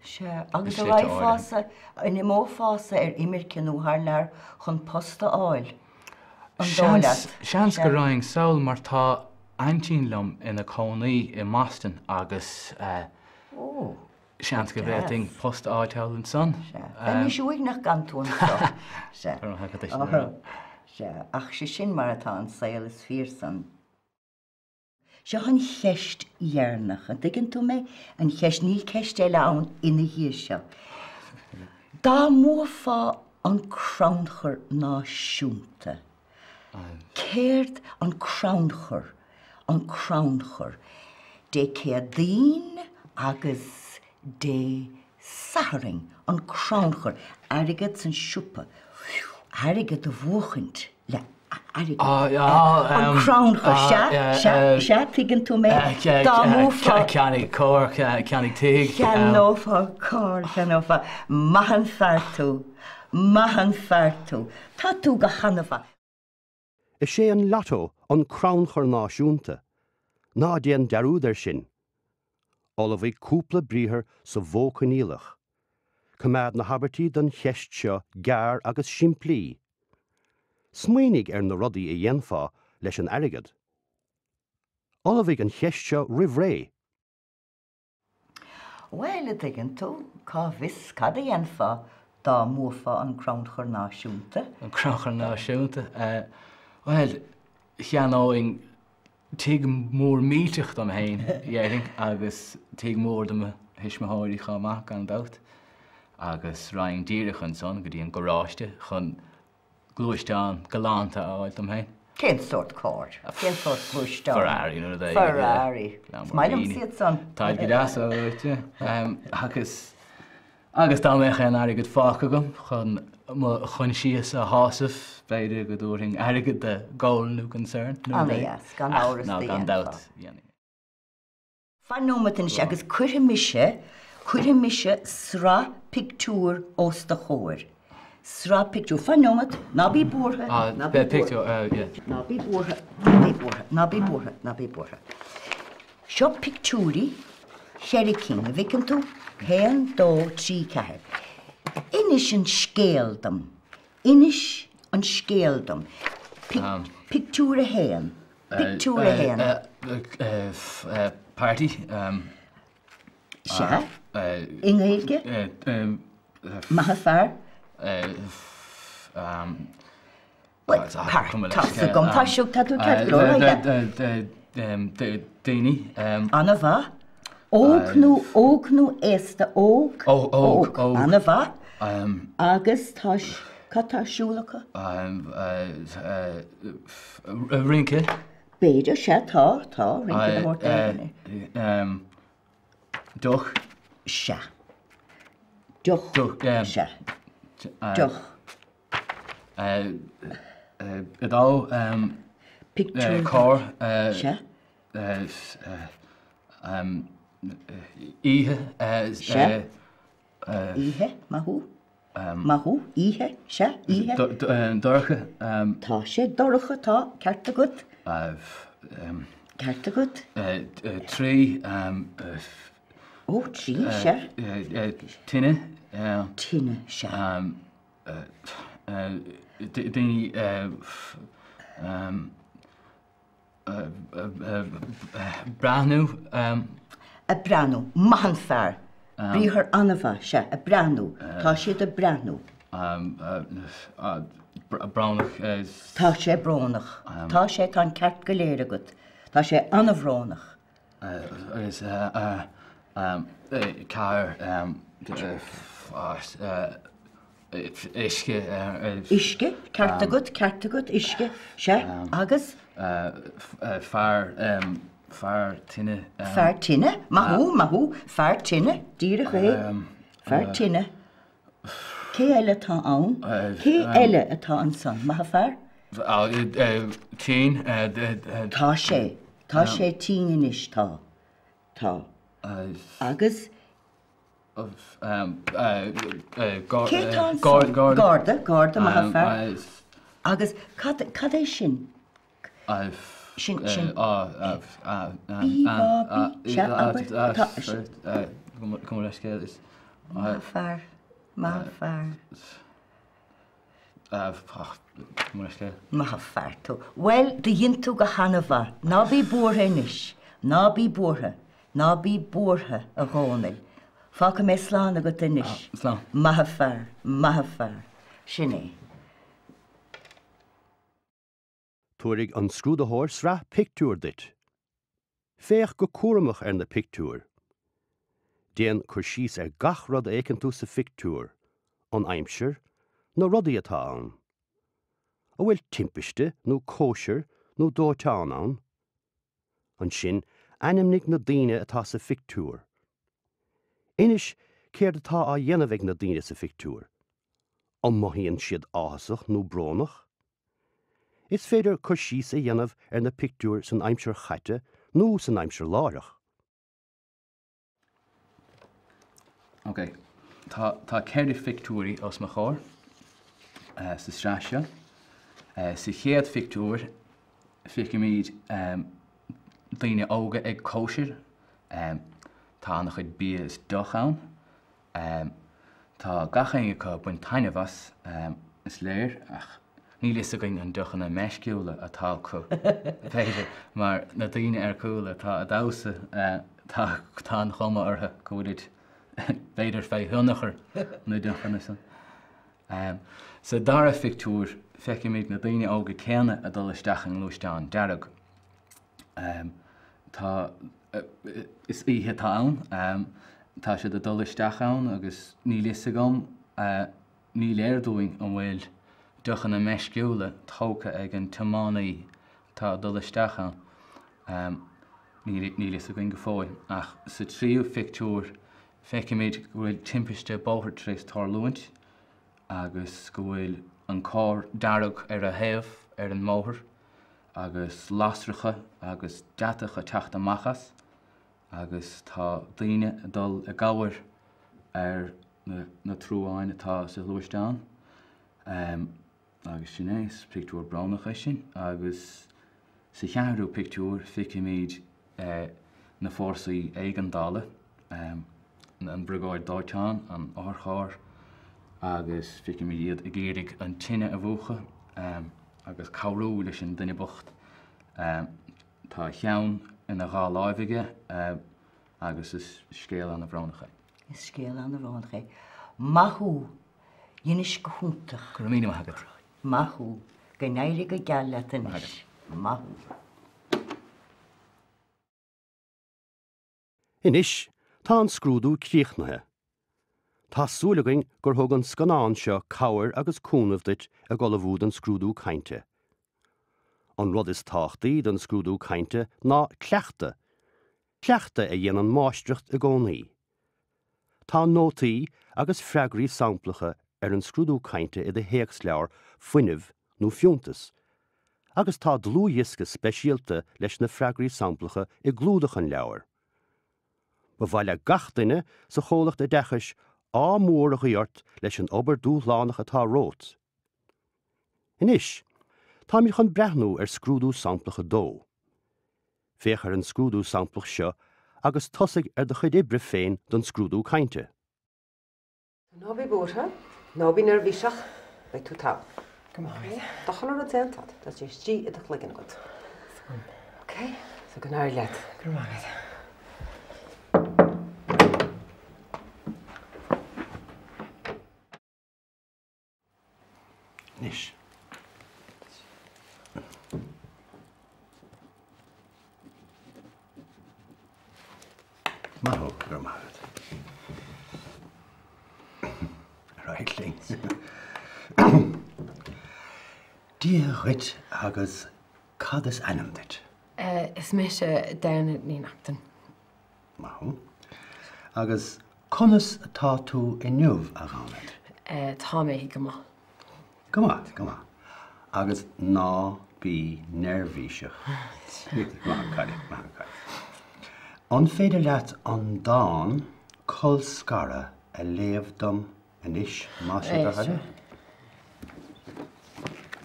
Sea, agus an raghfása, an imeofása ar imirce nó thar lear chun post a fháil, an dóigh leat? Seans go raghainn sall mar tá aintín liom ina cónaí i mBoston agus seans go bhféadfainn post a fháil thall ansan. Sea, bheimis uaigneach gan tú anso. Sea, sea, ach sé sin mar atá an saol, is fíor san. Seo an cheist dheireanach, an dtuigeann tú mé? An cheist, níl ceist eile ann ina dhiaidh seo. Dá mbuafá an crannchur náisiúnta, céard an crannchur, an crannchur, Dé Céadaoin agus Dé Sathairn, an crannchur, airgead san siopa, airgead a bhuachaint le airgead, an crannchur, sea, sea, sea, tuigeann tú mé, dá mbuafá. Ceannaigh carr, ceannaigh tigh. Cheannófá carr, cheannófá, maith an fear tú, maith an fear tú, tá tú go han-mhaith. Is é an Lotto an crannchur náisiúnta. Ná déan dearúd air sin. Ullmhaigh cúpla briathar sa mhodh coinníollach. Coimeád na habairtí don cheist seo gearr agus simplí. Smaoinigh ar na rudaí a dhéanfá leis an airgead. Ullmhaigh an cheist seo roimh ré. Bhuel, a dtuigeann tú, cá bhfios cad a dhéanfá dá mbuafá an Crannchur Náisiúnta? An Crannchur Náisiúnta? Bhuel, cheannóinn tigh mór millteach dom féin, déarfainn, agus tigh mór do mo thuismitheoirí chomh maith, gan dabht. Agus raghainn díreach ansan go dtí an garáiste chun gluaisteán galánta a fháil dom féin. Cén sórt carr? Cén sórt gluaisteán? Ferrari nó rud éigin. Ferrari. Is maith liomsa iad san. Táid go deas, agus agus dá mbeadh aon airgead fágtha agam chun mo choinsias a shásamh, b'fhéidir go dtabharfainn airgead do Goal nó Concern nó rud éigin. Ana-dheas, gan amhras do dhéanfá. Gan dabht, dhéanfainn. Fan nóiméad anois agus cuirfidh mise, cuirfidh mise sraith pictiúr os do chomhair. Sraith pictiúr. Fan nóiméad, ná bí buartha, ná bí buartha. Ná bí buartha, ná bí buartha, ná bí buartha, ná bí buartha. Seo pictiúirí, cheithre cinn, an bhfeiceann tú? Haon, dó, trí, ceathair. Inis an scéal dom. Inis an scéal dom. Pictiúr a haon. Pictiúr a haon. Party. Sea. I nGaeilge? Maith an fear. Bhuel, tá's agam, tá seo, tá tú ceart go leor, Daoine. An-mhaith. Óg nó óg nó aosta? Óg. Óg. Óg. An-mhaith. Agus tá, cad tá ar siúl acu? Rince. B'fhéidir, sea, tá, tá, rince de shórt éigin. Deoch. Sea. Deoch. Sea. Deoch. Dó. Pictiúr. Carr. Sea. Oíche. Sea. Oíche, maith thú. Maith thú, oíche, sea, oíche. Dorcha. Tá sé dorcha, tá, ceart agat. Ceart agat. 3. Ó, 3, sea. Tine. Tine, sea. Daoine. Breathnú. Ag breathnú. Maith an fear. Briathar an-mhaith, sea, ag breathnú. Tá siad ag breathnú. Brónach. Tá sé brónach. Tá sé, tá an ceart go léir agat. Tá sé an-bhrónach. Agus 4 uisce. Uisce, ceart agat, ceart agat, uisce, sea, agus? Fear. Fear tine. Fear tine? Maith thú, maith thú. Fear tine, díreach é. Fear tine. Cé eile atá ann? Cé eile atá ansan? Maith an fear? Tinn. Tá sé. Tá sé tinn anois, tá. Tá. Agus. Cé atá ansan? Garda, garda, maith an fear. Agus cad, cad é sin? Sin, sin. Bí, bá, bí, sea, abair, tá, Maith an fear, maith an fear. Maith an fear tú. Bhuel, do dhein tú go hana-mhaith. Ná bí buartha anois. Ná bí buartha. Ná bí buartha, a Dhónaill. Fágfaidh mé slán agat anois. Slán. Maith an fear, maith an fear. Sin é. Tabharfaidh an scrúdaitheoir sraith pictiúr duit. Féach go cúramach ar na pictiúir. Déan cur síos ar gach rud a fheiceann tú sa phictiúr, an aimsir, na rudaí atá ann. An bhfuil timpiste nó cóisir nó dóiteán ann? Ansin ainmnigh na daoine atá sa phictiúr. Inis céard atá á dhéanamh ag na daoine sa phictiúr. An mothaíonn siad áthasach nó brónach? Is féidir cur síos a dhéanamh ar na pictiúir san aimsir chaite nó san aimsir láithreach. Ok, tá tá 4 phictiúirí os mo chomhair sa sraith seo. Sa chéad phictiúr feicimid daoine óga ag cóisir. Tá an-chuid bia is deoch ann. Tá gach éinne acu ag baint taitneamh as, is léir, ach níl fhios againn an deochanna meisciúla atá acu, b'fhéidir, mar na daoine ar cúl atá ag damhsa, tá tá an chuma orthu go bhfuilid, b'fhéidir, fé thionchar na deochanna san. Sa dara phictiúr, feicimid na daoine óga céanna ag dul isteach i ngluaisteán dearg. Tá, is oíche atá ann, tá siad ag dul isteach ann agus níl fhios agam, ní léir dúinn an bhfuil deochanna meisciúla tógtha ag an tiománaí atá ag dul isteach ann. Níl fhios againn go fóill. Ach sa tríú phictiúr feicimid go bhfuil timpiste bóthair tar éis tarlúint agus go bhfuil an carr dearg ar a thaobh ar an mbóthar. agus lasracha agus deatach ag teacht amach as agus tá daoine ag dul i gcabhair ar na truáin atá sa ghluaisteán. Agus sin é, is pictiúr brónach é sin. Agus sa cheathrú pictiúr feicimid na fórsaí éigeandála, an briogáid dóiteáin, an otharcharr agus feicimid iad ag iarraidh an tine a mhúchadh. agus cabhrú leis an duine bocht. Tá a cheann ina dhá láimh aige agus is scéal ana-bhrónach é. Is scéal ana-bhrónach é. Maith thú! Dheinis go hiontach. Go raibh míle maith agat. Maith thú. Go n-éirí go geal leat anois. Maith thú. Anois, tá an scrúdú críochnaithe. Tá súil againn gur thug an scannán seo cabhair agus cúnamh duit ag ullmhú don scrúdú cainte. An rud is tábhachtaí don scrúdú cainte ná cleachtadh. Cleachtadh a dhéanann máistreacht i gcónaí. Tá nótaí agus freagraí samplacha ar an scrúdú cainte i do théacsleabhar Fuinneamh nó Fiúntas agus tá dlúthdhiosca speisialta leis na freagraí samplacha i gclúdach an leabhair. Ba mhaith le gach duine sa chomhlacht oideachais ádh mór a ghuí ort leis an obair dúshlánach atá romhat. Anois, táimid chun breathnú ar scrúdú samplach 2. Féach ar an scrúdú samplach seo agus tosaigh ar do chuid oibre féin don scrúdú cainte. Ná bí buartha, ná bí neirbhíseach, beidh tú togha. Go maith. Tá chuile rud déanta agat, tá sé istigh i do chloigeann agat. Ok, so go n-éirí leat. Go raibh maith agat. Anois. Maith thú, go raibh maith agat. Ar aghaidh linn. Dia dhuit agus cad is ainm duit? Is mise Damhnait Ní Neachtain. Maith thú. Agus conas atá tú inniu, a Dhamhnait? Tá mé go maith. Go maith, go maith. Agus ná bí neirbhíseach. Maith an cailín, maith an cailín. An féidir leat an dán 'Colscaradh' a léamh dom anois, más é do thoil é?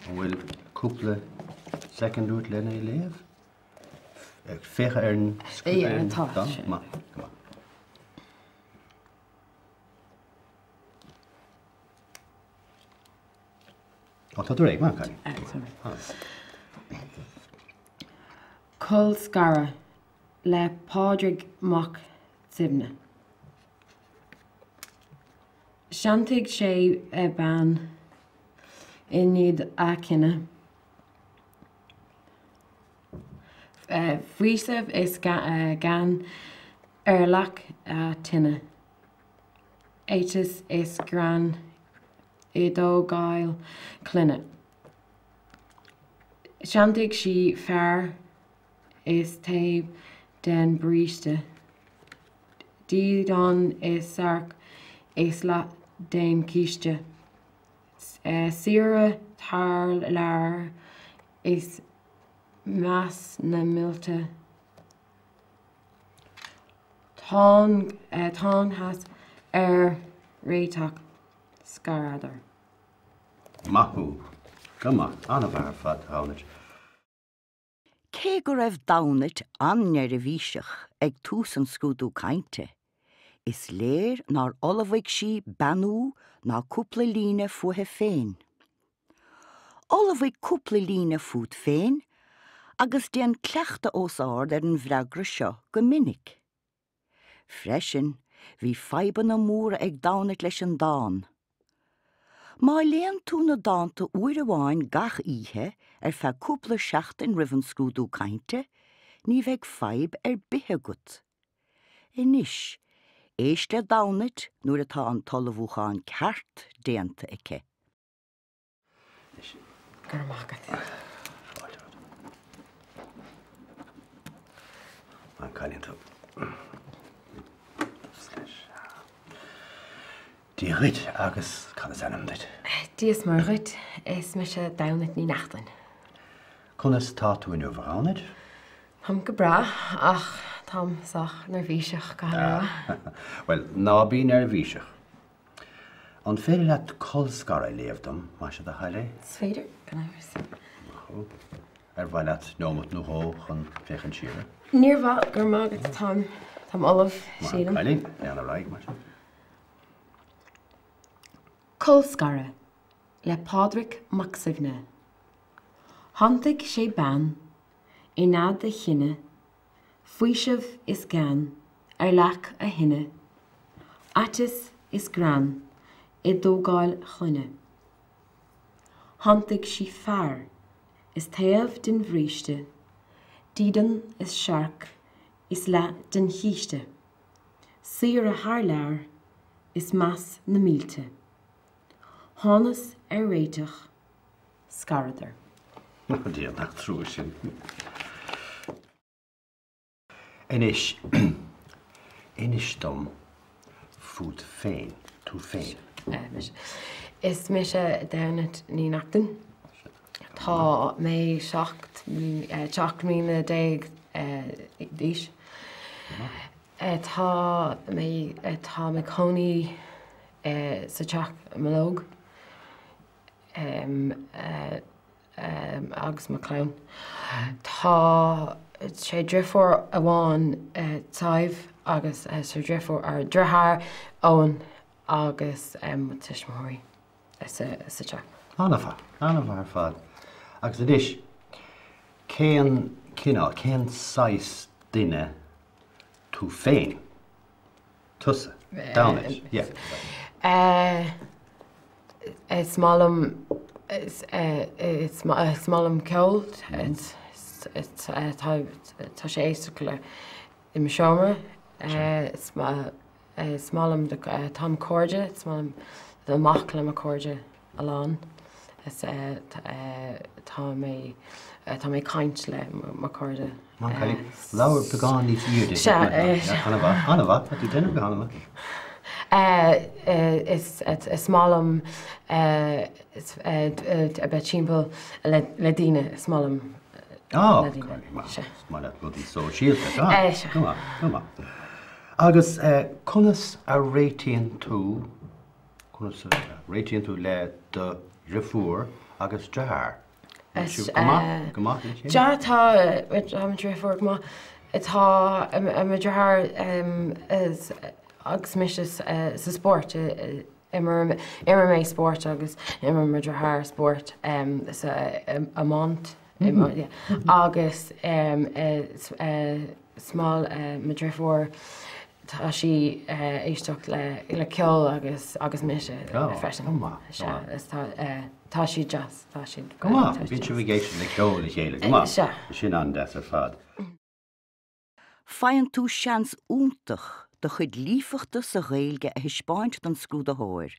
An bhfuil cúpla soicind uait lena léamh? Féach ar an dán. Maith, go maith. Ó, tá tú réidh, maith an cailín. Colscaradh le Pádraig Mac Suibhne. Shantaigh sé bean i ndiaidh a chine. Faoiseamh is gean ar leac a tine. Aiteas is greann i dtógáil clainne. Shantaigh sí fear is taobh den bhríste. Dídean is searc is leath den chíste. Saoire thar lear is meas na mílte. Thángthas ar réiteach, scaradar. Maith thú. Go maith. An-mhaith ar fad, a Dhamhnait. Cé go raibh Damhnait an-neirbhíseach ag tús an scrúdú cainte, is léir nár ullmhaigh sí beannú ná cúpla líne fúithi féin. Ullmhaigh cúpla líne fút féin agus déan cleachtadh os ard ar an bhfreagra seo go minic. Freisin, bhí fadhbanna móra ag Damhnait leis an dán. Má léann tú na dánta uair amháin gach oíche ar feadh cúpla seachtain roimh an scrúdú cainte, ní bheidh fadhb ar bith agat. Anois, éist le Damhnait nuair atá an t-ullmhúchán ceart déanta aici. Go raibh maith agat. Fáilte romhat. An cailín tú. Dia dhuit agus cad is ainm duit? Dia is Muire dhuit, is mise Damhnait Ní Neachtain. Conas tá tú inniu, a Dhamhnait? Táim go breá ach táim sách neirbhíseach, caithfidh mé a rá. Bhuel, ná bí neirbhíseach. An féidir leat Colscaradh a léamh dom, más é do thoil é? Is féidir, gan amhras. Maith thú. Ar mhaith leat neomat nó dhó chun féachaint siar air? Níor mhaith, go raibh maith agat, táim, táim ullamh, sílim. Maith an cailín, lean ar aghaidh, mar sin. Colscaradh le Pádraig Mac Suibhne. Shantaigh sé bean i nead a chine Faoiseamh is gean ar leac a thine, aiteas is greann i dtógáil clainne. Shantaigh sí fear is taobh den bhríste, dídean is searc is leath den chíste, saoire thar lear is meas na mílte. Thánas ar réiteach, scaradar. A Dhia, nach trua sin. Anois, inis dom fút féin, tú féin. Mise. Is mise Damhnait Ní Neachtain. Tá mé 17 mbliana d'aois. Tá mé tá mé cónaí sa teach Malóg. agus mo chlann. Tá sé driofúr amháin Sadhbh agus sé driofúr deartháir Eoin agus mo tuismitheoirí sa teach. An-mhaith, an-mhaith ar fad. Agus anois, cén cineál, cén saghas duine tú féin? Tusa. Damhnait. Yeah. Is maith liom is maith liom ceol. Tá sé éisteacht le i mo seomra. Is maith liom tá mo cairde, is maith liom dul amach le mo cairde a lán. Tá mé tá mé ag caint le mo chairde. Labhair beagán níos airde. Sea. An-mhaith, an-mhaith, tá tú déanamh go han-mhaith. Is is maith liom a bheith timpeall le daoine, is maith liom le daoine. Is maith leat rudaí sóisialta, go maith, go maith. Agus conas a réitíonn tú Conas a réitíonn tú le do dhriofúr agus deartháir? An bhfuil sibh go maith, go maith le chéile? Sea, tá, tá mo dhriofúr go maith. Tá mo dheartháir agus mise sa spórt. Imrím mé spórt agus imríonn mo dheartháir spórt sa iomáint. Agus is maith le mo dhriofúr Tá sí ag éisteacht le ceol agus agus mise freisin. Go maith. Sea, is tá tá siad deas, tá siad. Go maith, bíonn sibh ag éisteacht le ceol le chéile, go maith. Sea. Sin an-deas ar fad. Faigheann tú seans iontach do chuid líofachta sa Ghaeilge a thaispeáint don scrúdaitheoir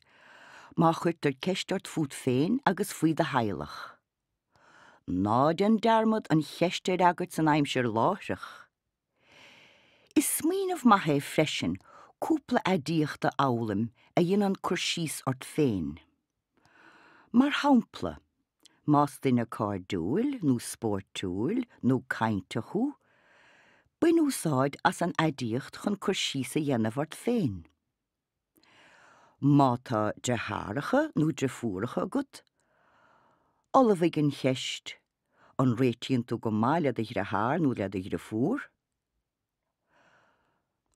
má chuirtear ceist ort fút féin agus faoi do theaghlach. Ná déan dearmad an cheist a fhreagairt san aimsir láithreach. Is smaoineamh maith é freisin cúpla aidiacht a fhoghlaim a dhéanann cur síos ort féin. Mar shampla, más duine cairdiúil nó spóirtiúil nó cainteach thú, bain úsáid as an aidiacht chun cur síos a dhéanamh ort féin. Má tá deartháireacha nó deirfiúracha agat, ullmhaigh an cheist An réitíonn tú go maith le do dhreatháir nó le do dhriofúr?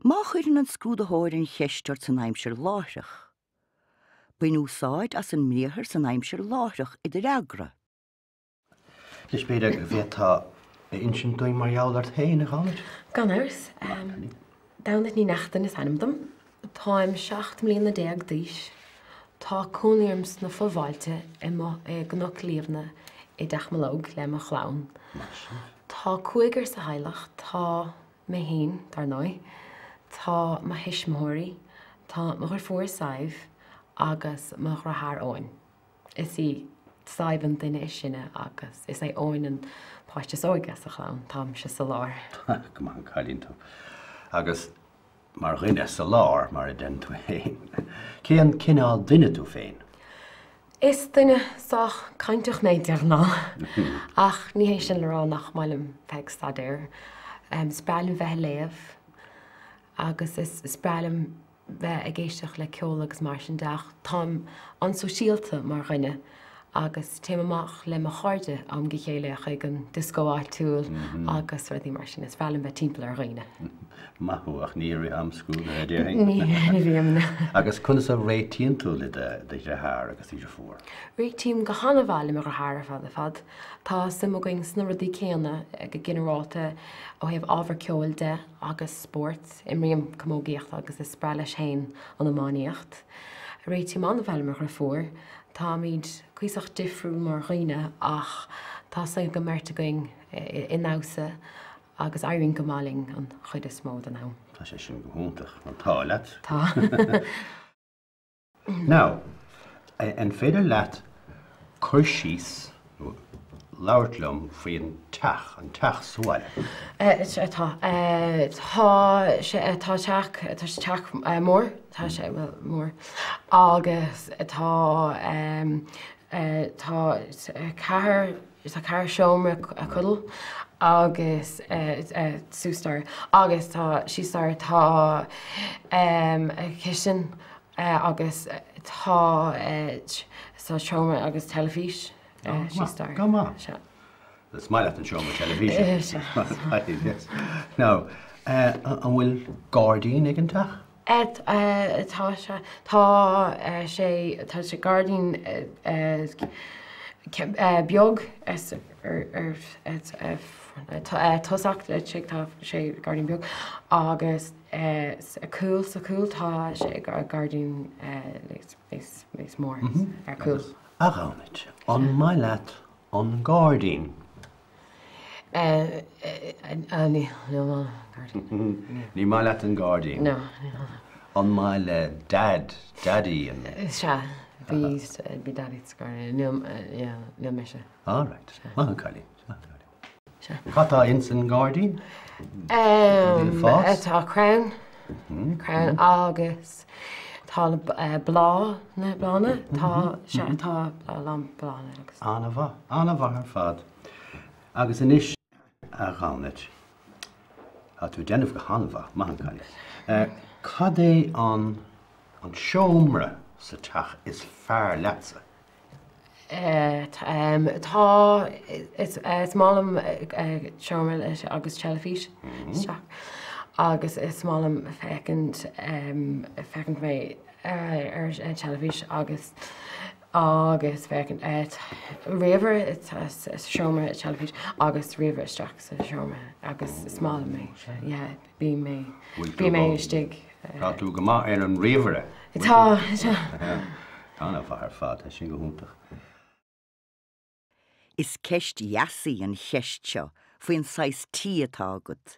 Má chuireann an scrúdaitheoir an cheist ort san aimsir láithreach, bain úsáid as an mbriathar san aimsir láithreach i do fhreagra. Anois, b'fhéidir go bhféadfá a insint dúinn mar gheall ort féin, a Ghobnait? Gan amhras. Damhnait Ní Neachtain is ainm dom. Táim 17 mbliana d'aois. Tá cónaí orm sna fo-bhailte i i gCnoc Liamhna i dTeach Mológ le mo chlann. Tá cúigear sa theaghlach, tá mé féin, dar ndóigh, tá mo thuismitheoirí, tá mo dhriofúr Sadhbh agus mo dhriotháir Eoin. Is í Sadhbh an duine is sine agus is é Eoin an páiste is óige sa chlann. Táimse sa lár. Go maith an cailín tú. Agus mar dhuine sa lár, mar a deireann tú féin. Cén cineál duine tú féin? Is duine sách cainteach mé de ghnáth, ach ní hé sin le rá nach maith liom bheith ag staidéar. Is breá liom bheith ag léamh agus is breá liom bheith ag éisteacht le ceol agus mar sin de ach táim an-sóisialta mar dhuine agus téim amach le mo chairde am go chéile chuig an dioscó áitiúil agus rudaí mar sin. Is breá liom bheith timpeall ar dhaoine. Maith thú, ach ní i rith am scrúdaithe, déarfainn. Ní, ní bhím. Agus conas a réitíonn tú le do dheartháir agus do dheirfiúr? Réitím go han-mhaith le mo dheartháir ar fad ar fad. Tá suim againn sna rudaí céanna go ginearálta ó thaobh ábhar ceoil de agus spóirt. Imrím camógaíocht agus is breá leis féin an iománaíocht. Réitím an-mhaith le mo dhriofúr. Táimid cuíosach difriúil mar dhaoine ach tá suim ag an mbeirt againn i ndamhsa agus éiríonn go maith linn an chuid is mó den am. Tá sé sin go hiontach. An t-ádh leat. Tá. Now, an féidir leat cur síos nó labhairt liom faoin teach, an teach sa bhaile? Tá. Tá sé, tá teach, tá sé teach mór, tá sé, bhuel, mór agus tá, tá ceathair, tá ceathair seomra codlata agus suas staighre agus tá síos staighre tá cistin agus tá tá seomra agus teilifís síos staighre. Go maith. Sea. Is maith leat an seomra teilifíse. Sea. Now, an bhfuil gairdín ag an teach? Tá sé, tá sé, tá sé gairdín beag ar tosach, tá sé gairdín beag agus sa cúl, sa cúl tá sé gairdín níos mór ar cúl. A Ghobnait, an maith leat an gairdín? Ní gairdín. Ní maith leat an gairdín? No. An maith le Dad, Daddy an Sea. Bhí, bhí Daidí sa ghairdín. Níl, yeah, níl mise. All right. Maith an cailín. Maith an cailín. Sea. Cad tá ins an ngairdín? Rudaí ag fás? Tá crann, crann agus tá bláth, na bláthanna, tá, sea, tá a lán bláthanna agus. An-mhaith, an-mhaith ar fad. Agus anois, a Ghobnait, tá tú ag déanamh go han-mhaith, maith an cailín. Cad é an an seomra sa teach is fearr leatsa? Tá, is maith liom seomra leis agus teilifís isteach agus is maith liom féachaint, féachaint mé ar an teilifís agus agus féachaint ríomhaire sa seomra teilifís agus ríomhaire isteach sa seomra agus is maith liom é, yeah. Bíonn mé, bíonn mé istigh. Tá tú go maith ar an ríomhaire. Tá, tá. An-mhaith ar fad, tá sin go hiontach. Is ceist dheas í an cheist seo faoin saghas tí atá agat.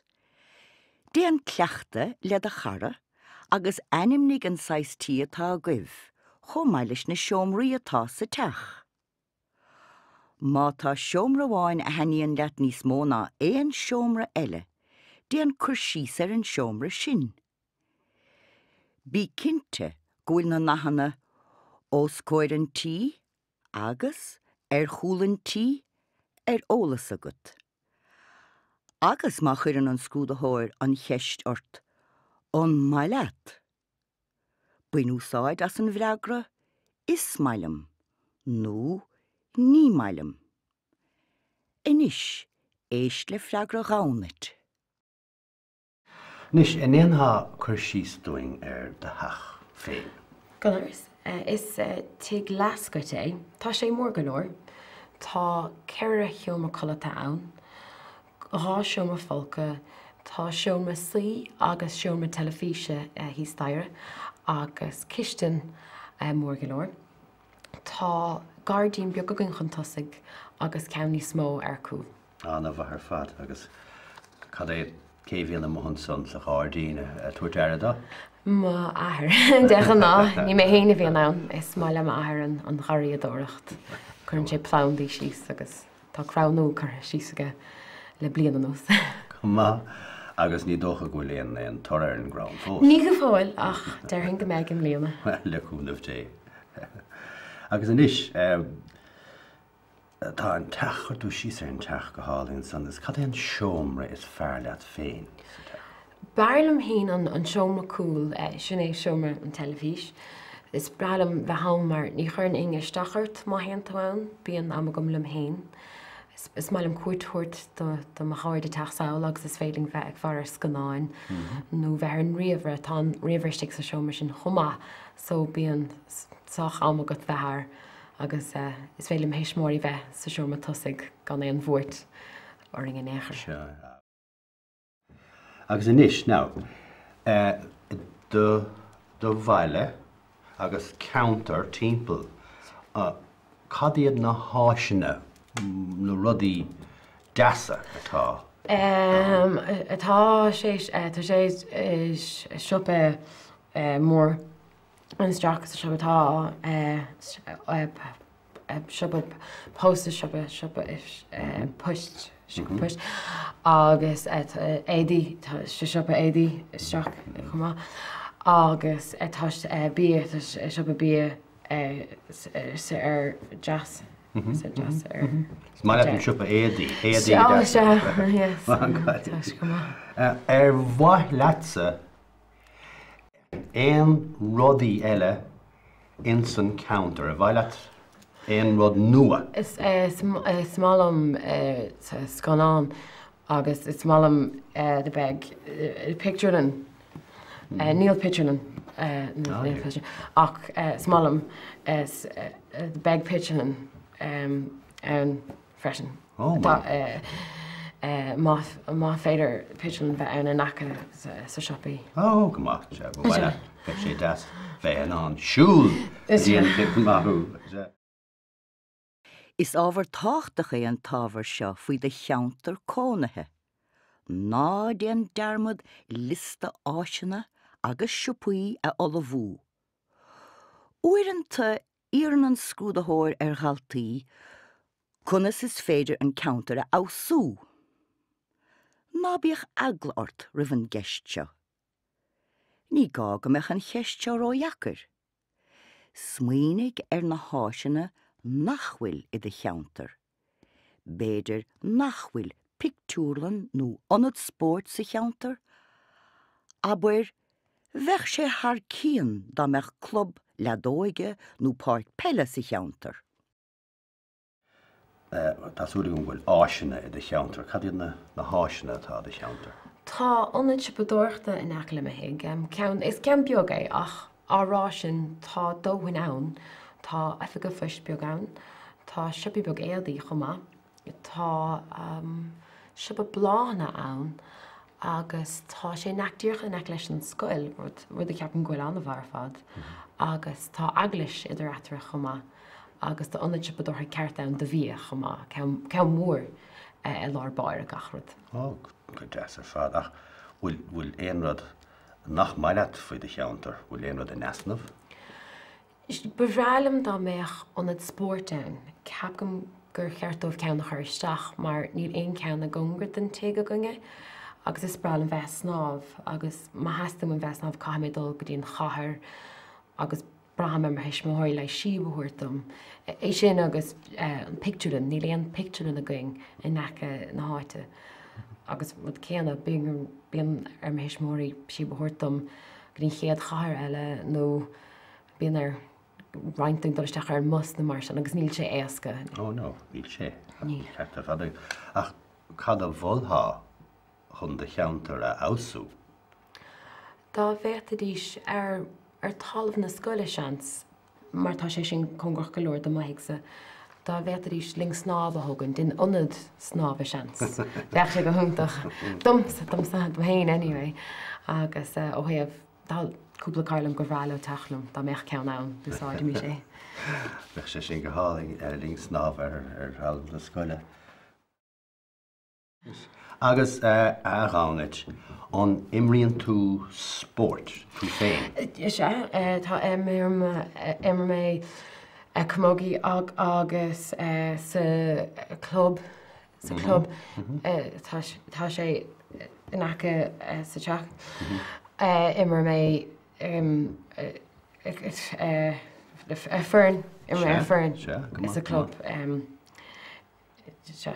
Déan cleachtadh le do chara agus ainmnigh an saghas tí atá agaibh chomh maith leis na seomraí atá sa teach. Má tá seomra amháin a thaitníonn leat níos mó ná aon seomra eile, déan cur síos ar an seomra sin. Bí cinnte go bhfuil na nathanna 'os comhair an tí' agus 'ar chúl an tí' ar eolas agat. Agus má chuireann an scrúdaitheoir an cheist ort 'An maith leat? Bain úsáid as an bhfreagra 'Is maith liom' nó 'Ní maith liom'. Anois, éist le freagra Ghobnait. Anois, an ndéanfá cur síos dúinn ar do theach féin? Gan amhras. Is tigh leathscoite é. Tá sé mór go leor. Tá ceithre sheomra codlata ann. 2 seomra folctha, tá seomra suí agus seomra teilifíse thíos staighre agus cistin mór go leor. Tá gairdín beag againn chun tosaigh agus ceann níos mó ar cúl. An-mhaith ar fad. Agus cad é, cé a bhíonn amuigh ansan sa ghairdín ag tabhairt aire dó? M'athair. De ghnáth, ní mé féin a bhíonn ann. Is maith le m'athair an gharraíodóireacht. Cuireann sé plandaí síos agus. Tá crann nua curtha síos aige le bliain anuas. Go maith. Agus ní dócha go bhfuil aon aon toradh ar an gcrann fós? Ní go fóill, ach déarfainn go mbeidh i mbliana. Bhuel, le cúnamh Dé. Agus anois, tá an teach, chuir tú síos ar an teach go hálainn ansan, agus cad é an seomra is fearr leat féin sa teach? B'fhearr liom féin an seomra cúil, sin é seomra an teilifís. Is breá liom bheith ann mar ní chuireann éinne isteach ort má théann tú ann, bíonn am agam liom féin. Is maith liom cuairt a thabhairt do mo chairde teacht sall agus is féidir linn bheith ag faire ar scannáin nó bheith ar an ríomhaire, tá an ríomhaire istigh sa seomra sin chomh maith so bíonn sách am agat bheith air agus is féidir le mo thuismitheoirí bheith sa seomra tosaigh gan aon bhuairt orainn in aon chor. Agus anois, now, do do bhaile agus ceantar timpeall, cad iad na háiseanna, na rudaí deasa atá ann? Tá sé, tá sé siopa mór isteach sa siopa tá siopa post siopa siopa poist siopa poist agus éadaí tá siopa éadaí isteach chomh maith agus tá bia tá siopa bia ar deas sa deas ar Is maith leat an siopa éadaí éadaí deas. Yes. Ar mhaith leatsa Aon rudaí eile ins an ceantar? Ar mhaith leat aon rud nua? Is maith liom scannán agus is maith liom the beidh pictiúrlann. Níl pictiúrlann ach is maith liom beidh pictiúrlann ann. freisin. Má féidir pictiúrlann bheith ann in aice sa siopaí. Ó, go maith, sea, ba mhaith leat, bheadh sé deas bheith in ann siúl go dtí an pictiúrlann, maith thú, sea. Is ábhar tábhachtach é an t-ábhar seo faoi do cheantar cónaithe. Ná déan dearmad liosta áiseanna agus siopaí a ullmhú. Uaireanta. Iarrann an scrúdaitheoir ar dhaltaí conas is féidir an ceantar a fheabhsú. Ná bíodh eagla ort roimh an gceist seo. Ní gá go mbeadh an cheist seo ródheacair. Smaoinigh ar na háiseanna nach bhfuil i do cheantar. B'fhéidir nach bhfuil pictiúrlann nó ionad spóirt sa cheantar? Abair, bheadh sé thar cionn dá mbeadh club leadóige nó páirc peile sa cheantar. Tá súil agam go bhfuil áiseanna i do cheantar. Cad iad na háiseanna atá i do cheantar? Tá ionad siopadóireachta in aice le mo thigh. Ceann, is ceann beag é ach á rá sin tá dóthain ann. Tá oifig an phoist beag ann, tá siopa beag éadaí chomh maith. Tá siopa bláthanna ann agus tá sé in aice, díreach in aice leis an scoil, rud, rud a cheapaim go bhfuil an-mhaith ar fad. Agus tá eaglais idir eatarthu chomh maith agus tá ionad siopadóireachta ceart ann do bhia chomh maith, ceann, ceann mór i lár báire gach rud. Ó, go deas ar fad. Ach bhfuil, bhfuil aon rud nach maith leat faoi do cheantar? Bhfuil aon rud in easnamh? Ba bhreá liom dá mbeadh ionad spóirt ann. Ceapaim gur cheart dóibh ceann a chur isteach mar níl aon cheann i gcóngar don tigh againne agus is breá liom bheith ag snámh agus má theastaíonn uaim bheith ag snámh caithfidh mé dul go dtí an chathair agus braithim ar mo thuismitheoirí le síob a thabhairt dom. É sin agus an pictiúrlann, níl aon pictiúrlann againn in aice na háite agus rud céanna bíonn ar mo thuismitheoirí síob a thabhairt dom go dtí an chéad chathair eile nó Bíonn ar roinnt dúinn dul isteach ar an mbus nó mar sin agus níl sé éasca. Oh no, níl sé. Níl. Ceart ar fad. Ach cad a mholfá chun do cheantar a fheabhsú? Dá bhféadfaidís ar ar talamh na scoile, seans, mar tá sé sin cóngarach go leor do mo thighse, dá bhféadfaidís linn snámha a thógaint, in ionad snámha seans. Bheadh sé go hiontach. Domsa, domsa, dom féin anyway. Agus ó thaobh Tá cúpla cara liom gur bhreá leo teacht liom, dá mbeadh ceann ann, d'úsáidfimis é. Bheadh sé sin go hálainn, linn snámha ar thalamh na scoile. Agus a Ghobnait, an imríonn tú spórt tú féin? Is ea, tá, imrím mé camogie agus sa club sa club tá sé in aice sa teach. Imir mé ar foireann, imir mé ar foireann sa club. Sea.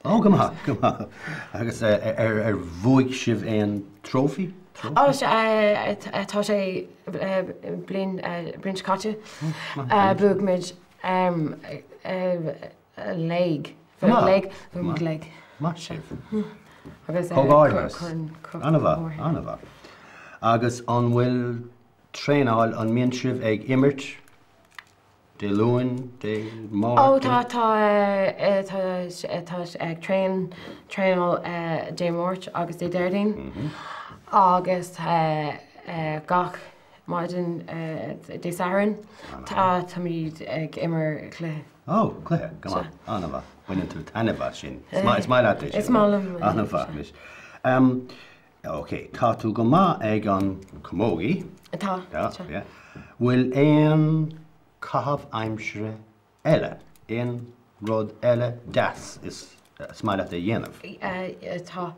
Ó, go maith, go maith. Agus ar bhuaigh sibh aon trophy? Ó, sea, tá sé bliain, bliain seo caite. Bhuaigh muid Léig. Léig. Léig. Maith sibh. Agus Comhghairdeas. An-mhaith, an-mhaith. Agus an bhfuil traenáil, an mbíonn sibh ag imirt Dé Luain, Dé Máirt? Ó tá, tá, tá, tá ag traein, traenáil Dé Máirt agus Dé Déardaoin agus gach maidin Dé Sathairn táimid ag imirt cluiche. Ó, cluiche, go maith, an-mhaith. Baineann tú taitneamh as sin. Is maith leat é sin. Is maith liom. An-mhaith anois. Ok, tá tú go maith ag an camogie. Tá. Tá, yeah. Bhfuil aon caitheamh aimsire eile, aon rud eile deas is maith leat a dhéanamh? Tá.